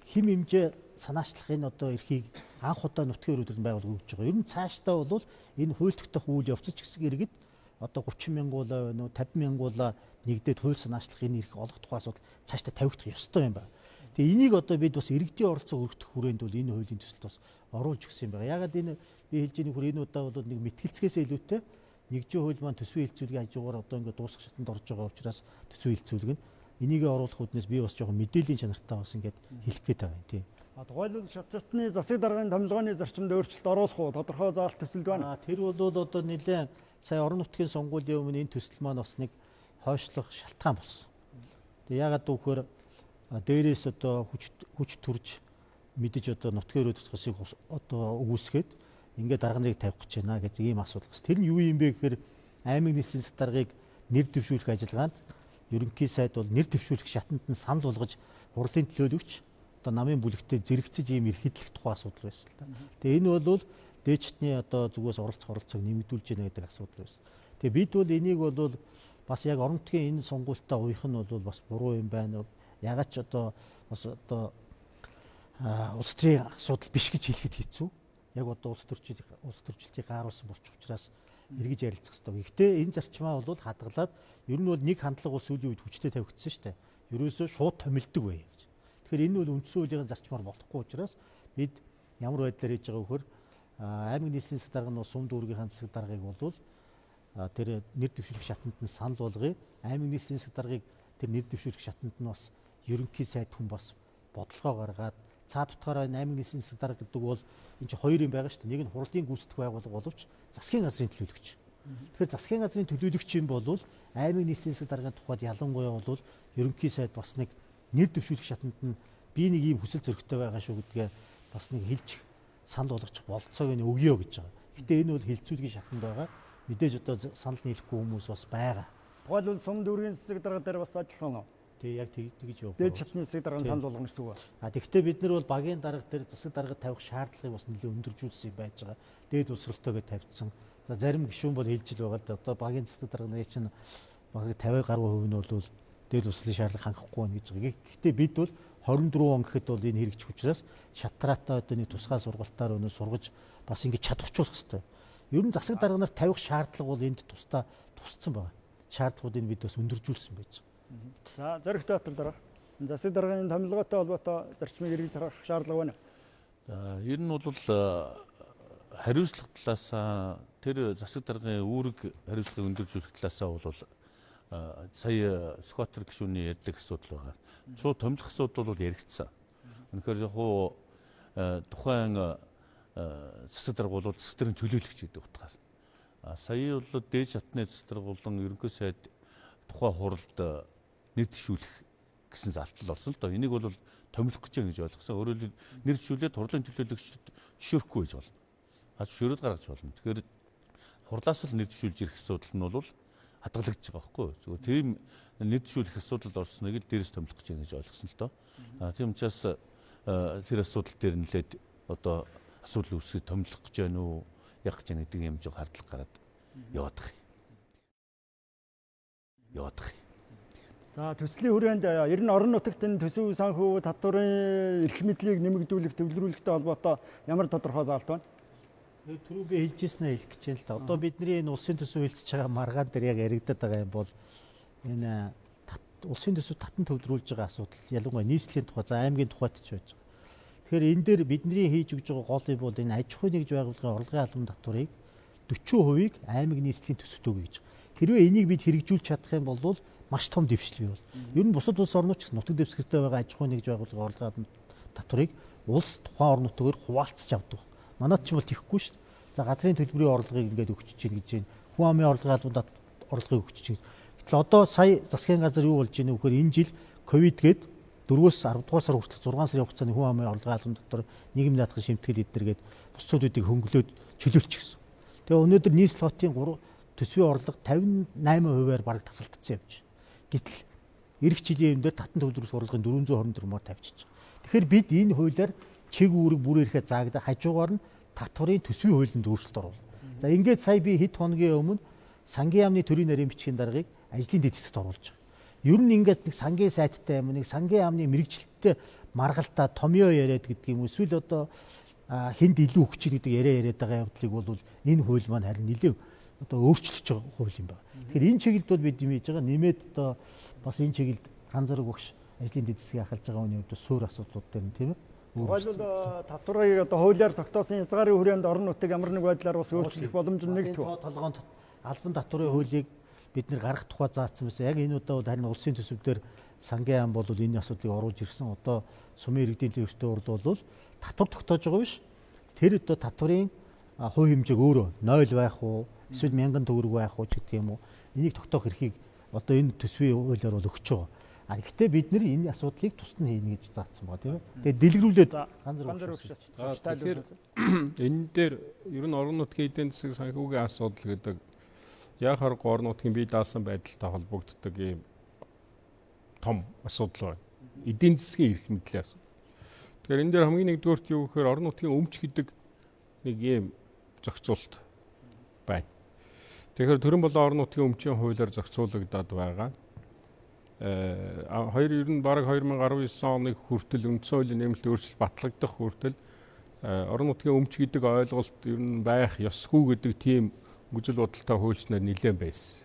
хим хэмжээ санаачлагын одоо эрхийг анх удаа нутгийн өрөөнд байгуулга өгч байгаа. Ер нь цаашдаа бол энэ хууль тогтоох үйл явц ч гэсэн иргэд одоо гурван мянгуулаа байна уу, тавин мянгуулаа нэгдээд хууль санаачлагын эрх олох тухай асуудал цаашдаа тавигдах ёстой юм байна. Тэгээ энийг одоо бид бас иргэдийн оролцоо өргөх хүрээнд бол энэ хуулийн төсөлд бас оруулж өгсөн юм байна. Ягаад энэ би хэлж байгаа нөхөр энэ удаа бол нэг мэтгэлцгээс илүүтэй нэгжийн хууль маань төсвийн хилцүүлгийн хажуугаар одоо ингээд дуусах шатанд орж байгаа учраас төсвийн хилцүүлэг нь энийг оруулах үднээс би бас жоохон мэдээллийн чанартай бас ингээд хэлэх гээд байгаа юм тийм. А тухайлбал шатны засаг даргын томилгооны зарчимд өөрчлөлт оруулах уу тодорхой заалт төсөлд байна. Тэр бол одоо нэлээд сая орон нутгийн сонгуулийн өмнө энэ төсөл маань бас нэг хойшлох шалтгаан болсон. Тэгээ ягаад гэвэл дээрээс одоо хүч хүч төрж мэдэж одоо нутгийн өрөөд тусгасыг одоо өгүүлсгээд ингээд дарганыг тавих гэж байна гэж ийм асуудал бас. Тэр нь юу юм бэ гэхээр аймаг нийслэлийн засаг даргыг нэр дэвшүүлэх ажиллагаанд ерөнхий сайд бол нэр дэвшүүлэх шатанд нь санал болгож хурлын төлөөлөгч одоо намын бүлэгтээ зэрэгцэж ийм эрхидлэх тухай асуудал байсан л та. Тэгээ энэ бол дээчтний одоо зүгээс оролцох оролцоог нэмэгдүүлж яана гэдэг асуудал байсан. Тэгээ бид бол энийг бол бас яг орон нутгийн энэ сонгуультаа уйх нь бол бас буруу юм байна. Ягаад ч одоо бас одоо улс төрийн асуудал биш гэж хэлэхэд хэцүү. Яг одоо улс төрчид улс төрчлөлтийг гааруулсан болчих учраас эргэж ярилцах хэрэгтэй. Гэхдээ энэ зарчмаа бол хадгалаад ер нь бол нэг хандлага бол сүүлийн үед хүчтэй тавигдсан шүү дээ. Ерөөсөө шууд томилдог бай гэж. Тэгэхээр энэ бол үндсэн хуулийн зарчмаар болохгүй учраас бид ямар байдлаар хийж байгаа вөхөр аймаг нийслэлийн засаг дарга нь сум дүүргийн засаг даргыг бол тэр нэр дэвшүүлэх шатанд нь санал болгоё. Аймаг нийслэлийн засаг даргыг тэр нэр дэвшүүлэх шатанд нь бас ерөнхий сайд хүн бас бодлогоо гаргаад цаад утгаараа аймаг нийслэлийн засаг дарга гэдэг бол энэ чинь хоёр юм байгаа шүү дээ. Нэг нь хурлын гүйцэтгэх байгууллага боловч засгийн газрын төлөөлөгч. Тэгэхээр засгийн газрын төлөөлөгч юм бол аймаг нийслэлийн засаг даргын тухайд ялангуяа бол ерөнхий сайд бас нэг нэр дэвшүүлэх шатанд нь би нэг ийм хүсэл зөрөгтэй байгаа шүү гэдгээ бас нэг хэлж санал болгочих болцоог нь өгье гэж байгаа. Гэтэ энэ бол хилцүүлгийн шатанд байгаа. Мэдээж одоо санал нийлэхгүй хүмүүс бас байгаа. Тухайлбал сум дүүргийн засаг дарга дээр бас ажиллах нь. Тэгээ яг тэгж явах. Дээд шатны засаг дарганы санал болгоно гэсэн үг. А тэгвэл бид нар бол багийн дарга дээр засаг дарга тавих шаардлагыг бас нэлээд өндөржүүлсэн юм байж байгаа. Дээд усралтойгоо тавьчихсан. За зарим гишүүн бол хэлж л байгаа л да. Одоо багийн засаг дарга нарын чинь багы тавиа гаруй хувь нь бол дээд услын шаардлага хангахгүй байна гэж байгаа. Гэхдээ бид бол хорин дөрвөн он гэхэд бол энэ хэрэгжих учраас шатраатай одоо нэг тусгай сургалтаар өнөө сургаж бас ингэж чадварчулах хэрэгтэй. Ер нь засаг дарга нар тавих шаардлага бол энд тусдаа тусцсан байна. Шаардлагуудыг бид бас өндөржүүлсэн байж байгаа. За зоригт дотор дараа засаг дарганы томилгоотой холбоотой зарчмыг хэрэгжиж харах шаардлага байна. За ер нь бол хариуцлага талаас тэр засаг даргын үүрэг хариуцлагыг өндөржүүлэх талаасаа бол сая Скватер гишүүний ярьдаг асуудал байгаа. Шууд томилох асуудал бол яригдсан. Үнэхээр яг тухайн засаг дарга бол засаг даргын төлөөлөгч гэдэг утгаар. Сая бол дээд шатны засаг дарга болон ерөнхий сайд тухайн хуралд нэр дэвшүүлэх гэсэн залтал орсон л доо. Энийг бол томилох гэж байгаа гэж ойлгосон. Өөрөөр хэлбэл нэр дэвшүүлээд хурлын төлөөлөгчд зөвшөөрөхгүй гэж болно. А зөвшөөрөөд гаргаж болно. Тэгэхээр хурлаас л нэр дэвшүүлж ирэх асуудал нь бол хадгалагдаж байгаа байхгүй юу. Зүгээр тийм нэр дэвшүүлэх асуудалд орсныг л дээрээс томилох гэж байгаа гэж ойлгосон л доо. А тийм учраас тэр асуудал дээр нэлээд одоо асуудал үүсгэж томилох гэж байна уу, яг гэж нэг юм жоо хардлага гараад яваад байгаа юм. Яваад байгаа юм. За төслийн хүрээнд ер нь орон нутагт энэ төсөв санхүү татварын эрх мэдлийг нэмэгдүүлэх, төвлөрүүлэхтэй холбоотой ямар тодорхой заалт байна? Түрүү би хэлжсэнээ хэлэх гэж байна л да. Одоо бидний энэ улсын төсөв хэлцэж байгаа маргаан дээр яг яригдаад байгаа юм бол энэ улсын төсөв татан төвлөрүүлж байгаа асуудал ялангуяа нийслэлийн тухай, за аймгийн тухайд ч байж байгаа. Тэгэхээр энэ дээр бидний хийж өгж байгаа гол юм бол энэ аж ахуйн нэгж байгууллагын орлогын албан татварыг дөрвөн хувийг аймаг нийслэлийн төсөвт өгье гэж. Хэрвээ энийг бид хэрэгжүүлж чадах юм бол маш том дэвшлээ бол. Ер нь бусад улс орнууд ч нутаг дэвсгэртэй байгаа аж ахуйн нэгж байгууллагын орлогын албан татварыг улс тухайн орн нутгаар хуваалцаж авдаг. Манайд ч бол тийхгүй шүү дээ. За газрын төлбөрийн орлогыг ингээд өгч чинь гэж байна. Хүн амын орлогын албан орлогыг өгч чинь. Гэтэл одоо сая засгийн газар юу болж байна вэ гэхээр энэ жил ковид гээд дөрвөөс арав дугаар сар хүртэл зургаан сарын хугацааны хүн амын орлогын албан татвар нийгмийн даатгал шимтгэл эднэргээд бусдуудыг хөнгөлөөд чөлөөлчихсөн. Тэгээ өнөөдөр нийслэл хотын төсвийн орлого тавин найман хувиар бараг тасалдсан явж байна. Гэтэл эх жилийн юм дээр татан төвлөрөх орлогын дөрвөн зуун хорин дөрвөөр тавьчихсан. Тэгэхээр бид энэ хуулиар чиг үүрэг бүрээрхээ заагдаа хажуугаар нь татварын төсвийн хуулинд өөрчлөлт оруулна. За ингээд сая би хэд хоногийн өмнө сангийн яамны төрийн нарийн бичгийн даргаыг ажлын дэд хэсэгт оруулж байгаа. Ер нь ингээд нэг сангийн сайттай юм, нэг сангийн яамны мэрэгчлэлтэй маргалдаа томьёо яриад гэдэг юм. Эсвэл одоо хэнд илүү өгч ийн гэдэг яриа яриад байгаа явдлыг бол энэ хууль маань харин нэлээд одоо өөрчлөж байгаа хууль юм байна. Тэгэхээр энэ чиглэлд бол бид юм хийж байгаа нэмээд одоо бас энэ чиглэлд хан зэрэг багш ажлын дэд хэсгийг ахалж байгаа хүний хувьд суур асуудлууд дээр нь тийм ээ. Хоёул татварыг одоо хуулиар тогтоосон хязгаарын хүрээнд орон нутаг ямар нэг байдлаар бас өөрчлөх боломж нь нэг тоо. Толгоонд албан татварын хуулийг бид нэр гаргах тухай заасан байсан. Яг энэ удаа бол харин улсын төсөвдөр сангийн яам бол энэ асуудлыг оруулж ирсэн. Одоо сумын иргэдийн төлөвшөлтөд урд бол татвар тогтоож байгаа биш. Тэр одоо татварын хувь хэмжээг өөрөө нойл байх уу, эсвэл мянган төгрөг байх уу гэдэг юм уу. Энийг тогтоох эрхийг одоо энэ төсвийн хуулиар бол өгч байгаа. А гэхдээ бид нэр энэ асуудлыг тусад нь хийнэ гэж заасан байгаа тийм ээ. Тэгээд дэлгэрүүлээд ганц зэрэг өгч. Тэгэхээр энэ дээр ер нь орон нутгийн эдийн засаг санхүүгийн асуудал гэдэг яг харахгүй орон нутгийн бие даасан байдалтай холбогддог ийм том асуудал байна. Эдийн засгийн эрх мэдлийн асуудал. Тэгэхээр энэ дээр хамгийн нэгдүгээрт юу гэхээр орон нутгийн өмч гэдэг нэг ийм зохицуулт байна. Тэгэхээр төрөн болон орон нутгийн өмчийн хуулиар зохицуулагдаад байгаа. Э хоёр ер нь бараг хоёр мянга арван девять оны хүртэл үндсэн хуулийн нэмэлт өөрчлөлт батлагдах хүртэл орон нутгийн өмч гэдэг ойлголт ер нь байх ёсгүй гэдэг тийм гүжил бодолтой хуульчнаар нэлээд байсан.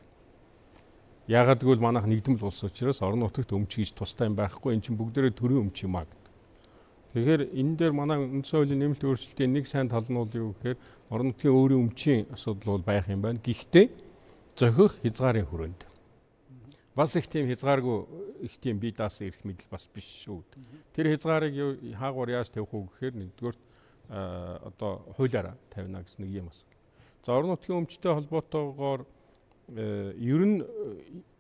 Яагаад гэвэл манайх нэгдмэл улс учраас орон нутагт өмч гэж тустай юм байхгүй, эн чинь бүгдээрээ төрийн өмч юм аа гэдэг. Тэгэхээр энэ дээр манай үндсэн хуулийн нэмэлт өөрчлөлтийн нэг сайн тал нь бол юу гэхээр орон нутгийн өөрийн өмчийн асуудал бол байх юм байна. Гэхдээ зохих хязгаарын хүрээнд. Бас их тийм хязгааргүй их тийм бие даасан эрх мэдэл бас биш шүү. Тэр хязгаарыг хаагуур яаж тавих уу гэхээр нэгдүгээр одоо хуулиараа тавина гэсэн нэг юм асуу. За орон нутгийн өмчтэй холбоотойгоор ер нь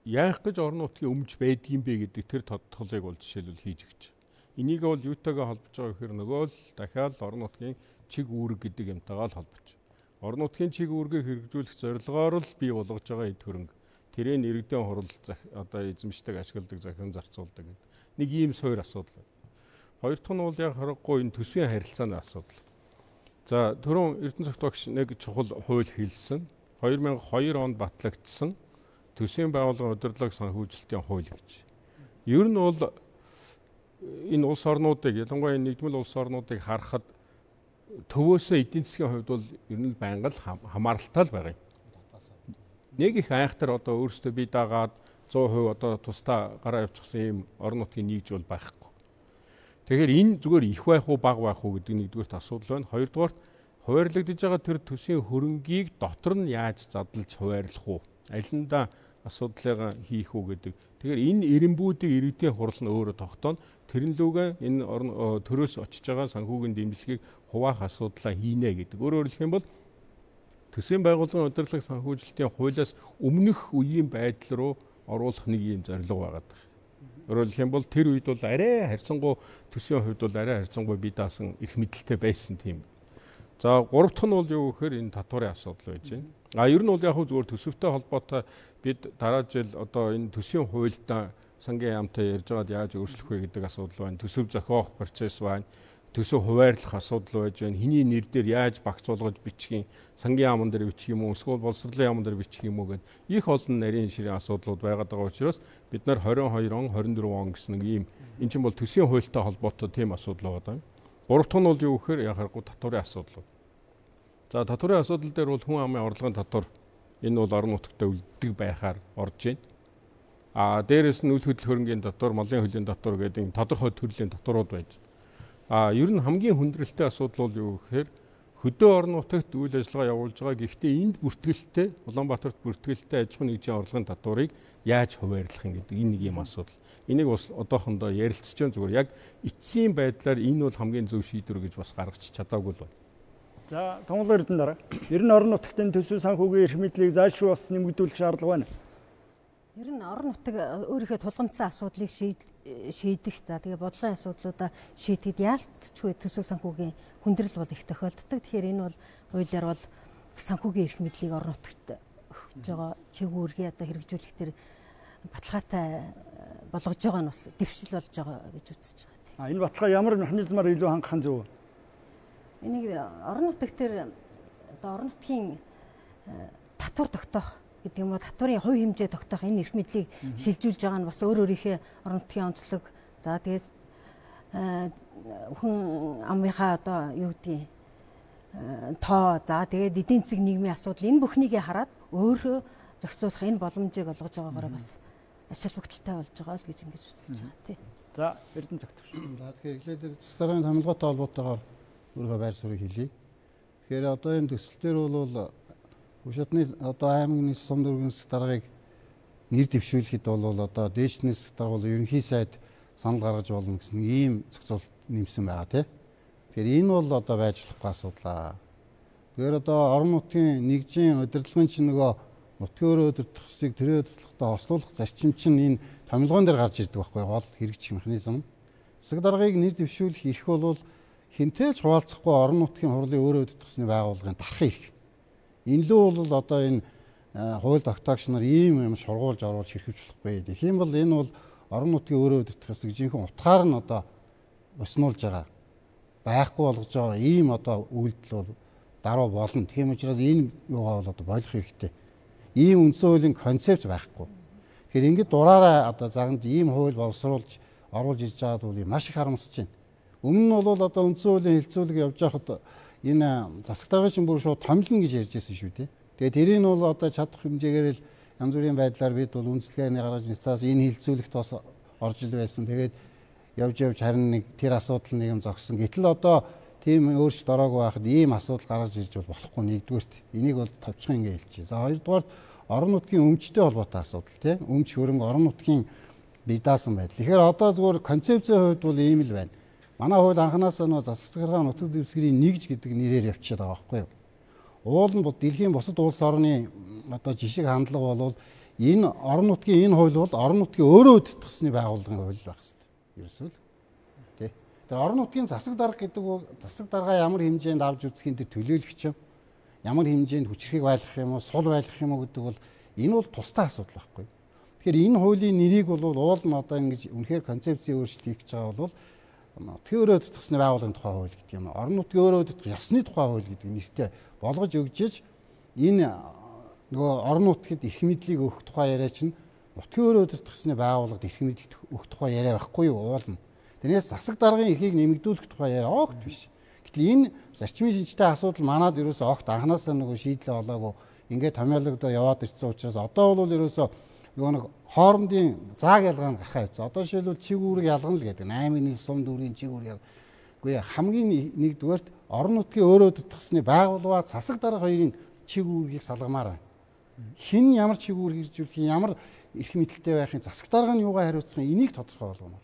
яах гэж орон нутгийн өмч байдгийм бэ гэдэг тэр тодтолыг бол жишээлбэл хийж өгч. Энийг бол юутайгаа холбож байгаа гэхээр нөгөө л дахиад орон нутгийн чиг үүрэг гэдэг юмтайгаа л холбож. Орон нутгийн чиг үүргийг хэрэгжүүлэх зорилгоор л бий болгож байгаа эд хөрөнгө. Тэрийн иргэдийн хурал одоо эзэмшдэг, ашигладаг, захиран зарцуулдаг гэдэг нэг ийм суур асуудал байна. Хоёр дахь нь бол яг харахгүй энэ төсвийн харилцааны асуудал. За түрүүн Эрдэнэ цогтойгч нэг чухал хууль хэлсэн. хоёр мянга и хоёр онд батлагдсан төсвийн байгууллагын удирдлага санхүүжилтийн хууль гэж. Ер нь бол энэ улс орнуудыг, ялангуяа нэгдмэл улс орнуудыг харахад төвөөсөө эдийн засгийн хувьд бол ер нь байнга л хамааралтай л байгаа юм. Нэг их айхтар одоо өөрсдөө бие даагаад сто процент одоо тусдаа гараа явуулчихсан юм орон нутгийн нийгж бол байхгүй. Тэгэхээр энэ зүгээр их байх уу бага байх уу гэдэг нэгдүгээрт асуудал байна. Хоёрдугаарт хуваарлагдж байгаа тэр төсвийн хөрөнгийг дотор нь яаж задлж хуваарлах уу? Алинда асуудлыг хийх үү гэдэг. Тэгэхээр энэ эренбүүдийг иргэдийн хурал нь өөрөө тогтооно. Тэр нь лүгэн энэ төрөөс очиж байгаа санхүүгийн дэмжлэгийг хуваах асуудлаа хийнэ гэдэг. Өөрөөр хэлэх юм бол төсвийн байгууллагын удирдлага санхүүжилтийн хуулиас өмнөх үеийн байдал руу оруулах нэг юм зорилго байгаа. Өөрөөр хэлэх юм бол тэр үед бол арай харьцангуй төсвийн хувьд бол арай харьцангуй бие даасан эрх мэдэлтэй байсан тийм. За гурав дахь нь бол юу гэхээр энэ татварын асуудал байж байна. А ер нь бол яг хөө зүгээр төсөвтэй холбоотой бид дараа жил одоо энэ төсвийн хуультай сангийн яамтай ярьж байгаад яаж өөрчлөх вэ гэдэг асуудал байна. Төсөв зохиох процесс байна. Төсөв хуваарлах асуудал байж байна. Хиний нэр дээр яаж багцуулгаж бичих юм, сангийн яамн дээр бичих юм уу, эсвэл боловсролын яамн дээр бичих юм уу гэдэг их олон нарийн ширийн асуудлууд байгаад байгаа учраас бид нар двадцать и deux он, двадцать четыре он гэсэн нэг ийм эн чинь бол төсвийн хуультай холбоотой тийм асуудал байгаа. Гурав дахь нь бол юу гэхээр яг харахгүй татварын асуудал. За татварын асуудал дээр бол хүн амын орлогын татвар энэ бол орон нутагт үлддэг байхаар орж байна. А дээрээс нь үйл хөдлөл хөрөнгийн татвар, малын хөлийн татвар гэдэг тодорхой төрлийн татварууд байж. А ер нь хамгийн хүндрэлтэй асуудал бол юу гэхээр хөдөө орон нутагт үйл ажиллагаа явуулж байгаа. Гэхдээ энд бүртгэлтэй Улаанбаатарт бүртгэлтэй аж ахуйн нэгжийн орлогын татварыг яаж хуваарлах юм гэдэг энэ нэг юм асуудал. Энийг бас одоохондоо ярилцж байгаа зүгээр яг эцсийн байдлаар энэ бол хамгийн зөв шийдвэр гэж бас гаргаж чадаагүй л байна. За Томлоо Эрдэнэ дараа. Ер нь орон нутгийн төсөв санхүүгийн эрх мэдлийг заашгүй бас нэмэгдүүлэх шаардлага байна. Ер нь орон нутаг өөрийнхөө тулгамдсан асуудлыг шийдэх, за тэгээ бодлогын асуудлуудаа шийдэхэд яалтчгүй төсөв санхүүгийн хүндрэл бол их тохиолддог. Тэгэхээр энэ бол хуулиар бол санхүүгийн эрх мэдлийг орон нутагт өгч байгаа чиг үүргээ одоо хэрэгжүүлэх тэр баталгаатай болгож байгаа нь бас дэвшил болж байгаа гэж үзэж байгаа. А энэ баталгаа ямар механизмаар илүү хангах нь зөв вэ? энийг орон нутагт төр одоо орон нутгийн татвар тогтоох гэдэг юм уу татварын хувь хэмжээ тогтоох энэ эрх мэдлийг шилжүүлж байгаа нь бас өөр өөрийнхөө орон нутгийн онцлог за тэгээд хүн амынхаа одоо юу гэдгийг тоо за тэгээд эдийн засаг нийгмийн асуудал энэ бүхнийг хараад өөрөө зохицуулах энэ боломжийг олгож байгаагаар бас ач холбогдолтой болж байгаа л гэж ингэж үзэж байгаа тий. За Эрдэнэ зөвтгч. За тэгэхээр эхлээд засаг даргын томилгоотой холбоотойгоор өөрийнхөө байр суурийг хэлье. Тэгэхээр одоо энэ төсөл дээр бол Хөшөтний одоо аймгийн сум дүүргийн засаг даргаыг нэр дэвшүүлэхэд бол одоо дээшний засаг дарга бол ерөнхий сайд санал гаргаж болно гэсэн ийм зохицуулалт нэмсэн байгаа тий. Тэгэхээр энэ бол одоо байж болохгүй асуудал. Тэгэхээр одоо орон нутгийн нэгжийн удирдлагын чинь нөгөө нутгийн өөрөө удирдах хэсгийг тэрээр удирдлагатай хослуулах зарчим чинь энэ томилгоон дээр гарч ирдэг байхгүй гол хэрэгжих механизм. Засаг даргаыг нэр дэвшүүлэх эрх бол хинтээ ч хуваалцахгүй орон нутгийн хурлын өөрөө удирдахсны байгууллагын дарахын эрх. Энэ лөө бол одоо энэ хууль тогтоогч нар ийм юм шургуулж оруулж хэрхэж болохгүй. Тэгэх юм бол энэ бол орон нутгийн өөрөө удирдах хэсэг жинхэнэ утгаар нь одоо өснүүлж байгаа. Байхгүй болгож байгаа ийм одоо үйлдэл бол даруй болно. Тийм учраас энэ юугаа бол одоо болох хэрэгтэй. Ийм үндсэн хуулийн концепт байхгүй. Тэгэхээр ингээд дураараа одоо заганд ийм хууль боловсруулж оруулж ирж байгаад бол маш их харамсаж байна. Өмнө нь бол одоо үндсэн хуулийн хэлцүүлэг явж байхад энэ засаг даргын чинь бүр шууд томилно гэж ярьж байсан шүү дээ. Тэгээд тэрийг нь бол одоо чадах хэмжээгээр л янз бүрийн байдлаар бид бол үндэслэгийн гаргаж нцаас энэ хэлцүүлэгт бас орж ил байсан. Тэгээд явж явж харин нэг тэр асуудал нэг юм зогссон. Гэтэл одоо тийм өөрчлөлт ороогүй байхад ийм асуудал гаргаж ирж бол болохгүй нэгдүгээрт. Энийг бол товчхон ингэ хэлчихье. За хоёрдугаар орон нутгийн өмчтэй холбоотой асуудал тийм өмч хөрөнгө орон нутгийн бие даасан байдал. Тэгэхээр одоо зөвхөн концепцийн хувьд бол ийм л байна. Манай хууль анханасаа нөө засаг захиргаа нутаг дэвсгэрийн нэгж гэдэг нэрээр явчихад байгаа байхгүй юу? Уул нь дэлхийн бусад улс орны одоо жишг хандлага бол энэ орон нутгийн энэ хууль бол орон нутгийн өөрөө удирдахсны байгууллагын хууль байх хэрэгтэй. Ерөөсөө л тий. Тэр орон нутгийн засаг дарга гэдэг үг засаг дарга ямар хэмжээнд авч үзэхийн тэр төлөөлөгч юм. Ямар хэмжээнд хүчрхийг байлгах юм уу, сул байлгах юм уу гэдэг бол энэ бол тусдаа асуудал байхгүй. Тэгэхээр энэ хуулийн нэрийг бол уул нь одоо ингэж үнэхээр концепцийн өөрчлөлт хийх гэж байгаа бол нутгийн өөрөө удирдахсны байгууллагын тухай хууль гэдэг юм. Орон нутгийн өөрөө удирдах ёсны тухай хууль гэдэг нэртэй болгож өгчиж энэ нөгөө орон нутгад эрх мэдлийг өгөх тухай яриа чинь нутгийн өөрөө удирдахсны байгууллагад эрх мэдэл өгөх тухай яриа байхгүй юу уулна. Тэрнээс засаг даргын эрхийг нэмэгдүүлэх тухай яриа огт биш. Гэтэл энэ зарчмын шинжтэй асуудал манад ерөөсөө огт анханасаа нөгөө шийдлээ олоогүй ингээд томьёологдоо яваад ирсэн учраас одоо бол ерөөсөө нөгөө нэг хоорондын зааг ялгаа нь гарахаа явцсан. Одоо жишээлбэл чиг үүрэг ялгана л гэдэг. аймгийн нийт сум дүүргийн чиг үүрэг. Үгүй хамгийн нэгдүгээрт орон нутгийн өөрөө удирдахсны байгууллага засаг дарга хоёрын чиг үүргийг салгамаар байна. Хэн ямар чиг үүрэг хэрэгжүүлэх, ямар эрх мэдэлтэй байхын засаг дарга нь юугаар хариуцсан энийг тодорхой болгомоор.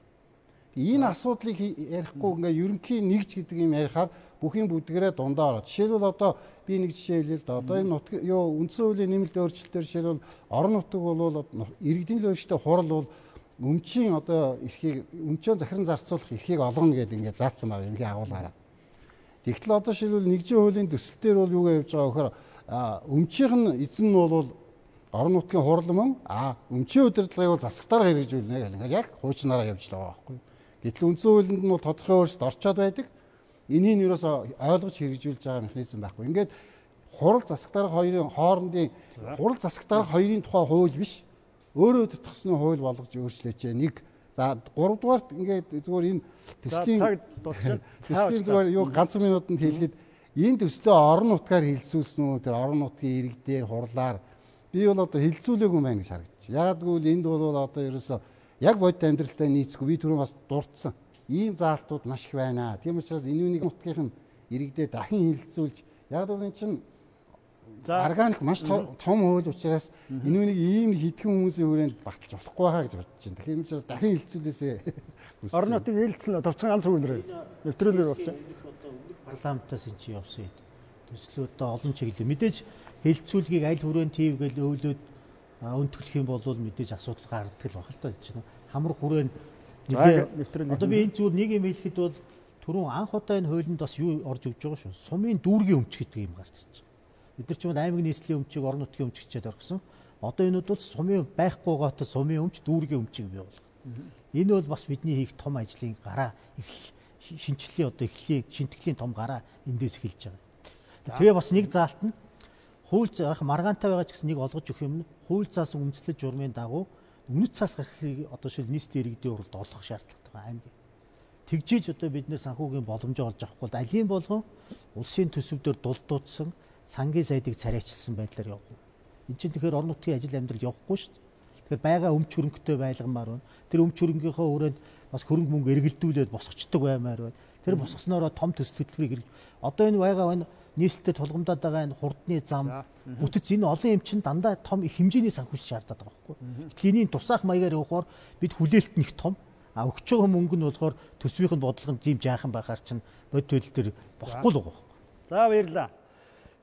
Энэ асуудлыг ярихгүй ингээ ерөнхий нэгж гэдэг юм ярихаар бүхийн бүдгэрээ дундаа ороод. Жишээлбэл одоо би нэг жишээ хэлээ л да. Одоо энэ нутг юу үндсэн хуулийн нэмэлт өөрчлөлтөөр жишээлбэл орон нутаг бол иргэдийн төлөөлөлтөй хурал бол өмчийн одоо эрхийг өмчөө захиран зарцуулах эрхийг олгоно гэдэг ингээ заасан байгаа юм агуулгаараа. Тэгтэл одоо жишээлбэл нэгжийн хуулийн төсөл дээр бол юугаа явж байгаа вөхөр өмчийн эзэн нь бол орон нутгийн хурал мөн а өмчийн удирдлагыг бол засаг дарга хэрэгжүүлнэ гэх ингээ яг хуучнаараа явж байгаа байхгүй. Гэтэл үндсэн хуулинд нь бол тодорхой өөрчлөлт орчоод байдаг. Энийг нь ерөөсө ойлгож хэрэгжүүлж байгаа механизм байхгүй. Ингээд хурал засаг дарга хоёрын хоорондын хурал засаг дарга хоёрын тухай хууль биш. Өөрөө төтгсөний хууль болгож өөрчлөөч. Нэг за гурав дугаарт ингээд зүгээр энэ төслийн төслийн зүгээр юу ганцхан минутанд хэлэхэд энэ төслөө орон нутгаар хилцүүлсэн үү тэр орон нутгийн ирэг дээр хурлаар би бол одоо хилцүүлээгүй юм байна гэж харагдчих. Ягаад гэвэл энд бол одоо ерөөсө яг бодит амьдралтай нийцгүй би түрүүн бас дурдсан. Ийм заалтууд маш их байна. Тийм учраас энэ үнийг нутгийнх нь иргэдээ дахин хилцүүлж яг л энэ чинь органик маш том хууль учраас энэ үнийг ийм хитгэн хүмүүсийн хүрээнд баталж болохгүй хаа гэж бодож байна. Тийм учраас дахин хилцүүлээсээ. Орон нутгийн хилцэл товцон ганц үйлрээ нэвтрүүлэг болсон. Парламентаас энэ чи явсан. Төслөөдөө олон чиглэл мэдээж хилцүүлгийг аль хүрээнд хийвгээл өөлөөд өнтгөх юм бол мэдээж асуудал гардаг л баг л та чинь хамар хүрээнд одоо би энэ зүйл нэг юм хэлэхэд бол түрүүн анх удаа энэ хуулинд бас юу орж өгж байгаа шүү. Сумын дүүргийн өмч гэдэг юм гарч ирж байгаа. Бид нар ч юм аймгийн нийслэлийн өмчийг орон нутгийн өмч гэчээд оргисон. Одоо энэ бол сумын байхгүй гоотой сумын өмч дүүргийн өмчийг бий болгох. Энэ бол бас бидний хийх том ажлын гараа их шинжилгээ одоо эхлэе, шинтгэлийн том гараа эндээс эхэлж байгаа. Тэгээ бас нэг заалт нь хууль заах маргаантай байгаа ч гэсэн нэг олгож өгөх юм нь хууль заасан үндэслэл журмын дагуу үнэт цаас гарахыг одоо шил нийслэлийн иргэдийн уралд олох шаардлагатай байгаа аймаг. Тэгжээж одоо бид нэр санхүүгийн боломжоо олж авахгүй бол алийн болгон улсын төсөвдөр дулдуудсан сангийн сайдыг царайчилсан байдлаар явах. Энд чинь тэгэхээр орон нутгийн ажил амьдрал явахгүй шүү дээ. Тэгэхээр байгаа өмч хөрөнгөтэй байлгамаар байна. Тэр өмч хөрөнгийнхөө өрөөнд бас хөрөнгө мөнгө эргэлдүүлээд босгочдөг баймаар байна. Тэр босгосноороо том төсөл хөтөлбөрийг одоо энэ байгаа энэ нийслэлтэй тулгамдаад байгаа энэ хурдны зам бүтэц энэ олон юм чинь дандаа том их хэмжээний санхүүж шаарддаг байгаа байхгүй. Гэтэл энэний тусаах маягаар явахаар бид хүлээлт нэг том а өгч байгаа мөнгө нь болохоор төсвийн бодлогонд тийм жаахан байхаар чинь бод төлөл төр болохгүй л байгаа. За баярлалаа.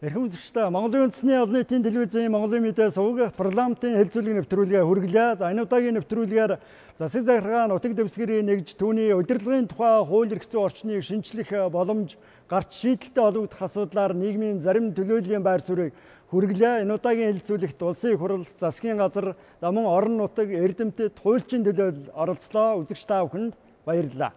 Эрхэм үзэгчдээ Монголын үндэсний олон нийтийн телевизийн Монголын мэдээ сувг парламентын хэлэлцүүлэг нэвтрүүлгээ хүргэлээ. За энэ удаагийн нэвтрүүлгээр засаг захиргаа нутаг дэвсгэрийн нэгж түүний удирдлагын тухай хууль эрх зүйн орчныг шинчлэх боломж гарч шийдэлтэй олгогдох асуудлаар нийгмийн зарим төлөөллийн байр суурийг хүргэлээ. Энэ удаагийн хэлэлцүүлэгт улсын их хурл, засгийн газар, за мөн орон нутаг, эрдэмтэд, хуульчийн төлөөлөл оролцлоо. Үзэгч та бүхэнд баярлалаа.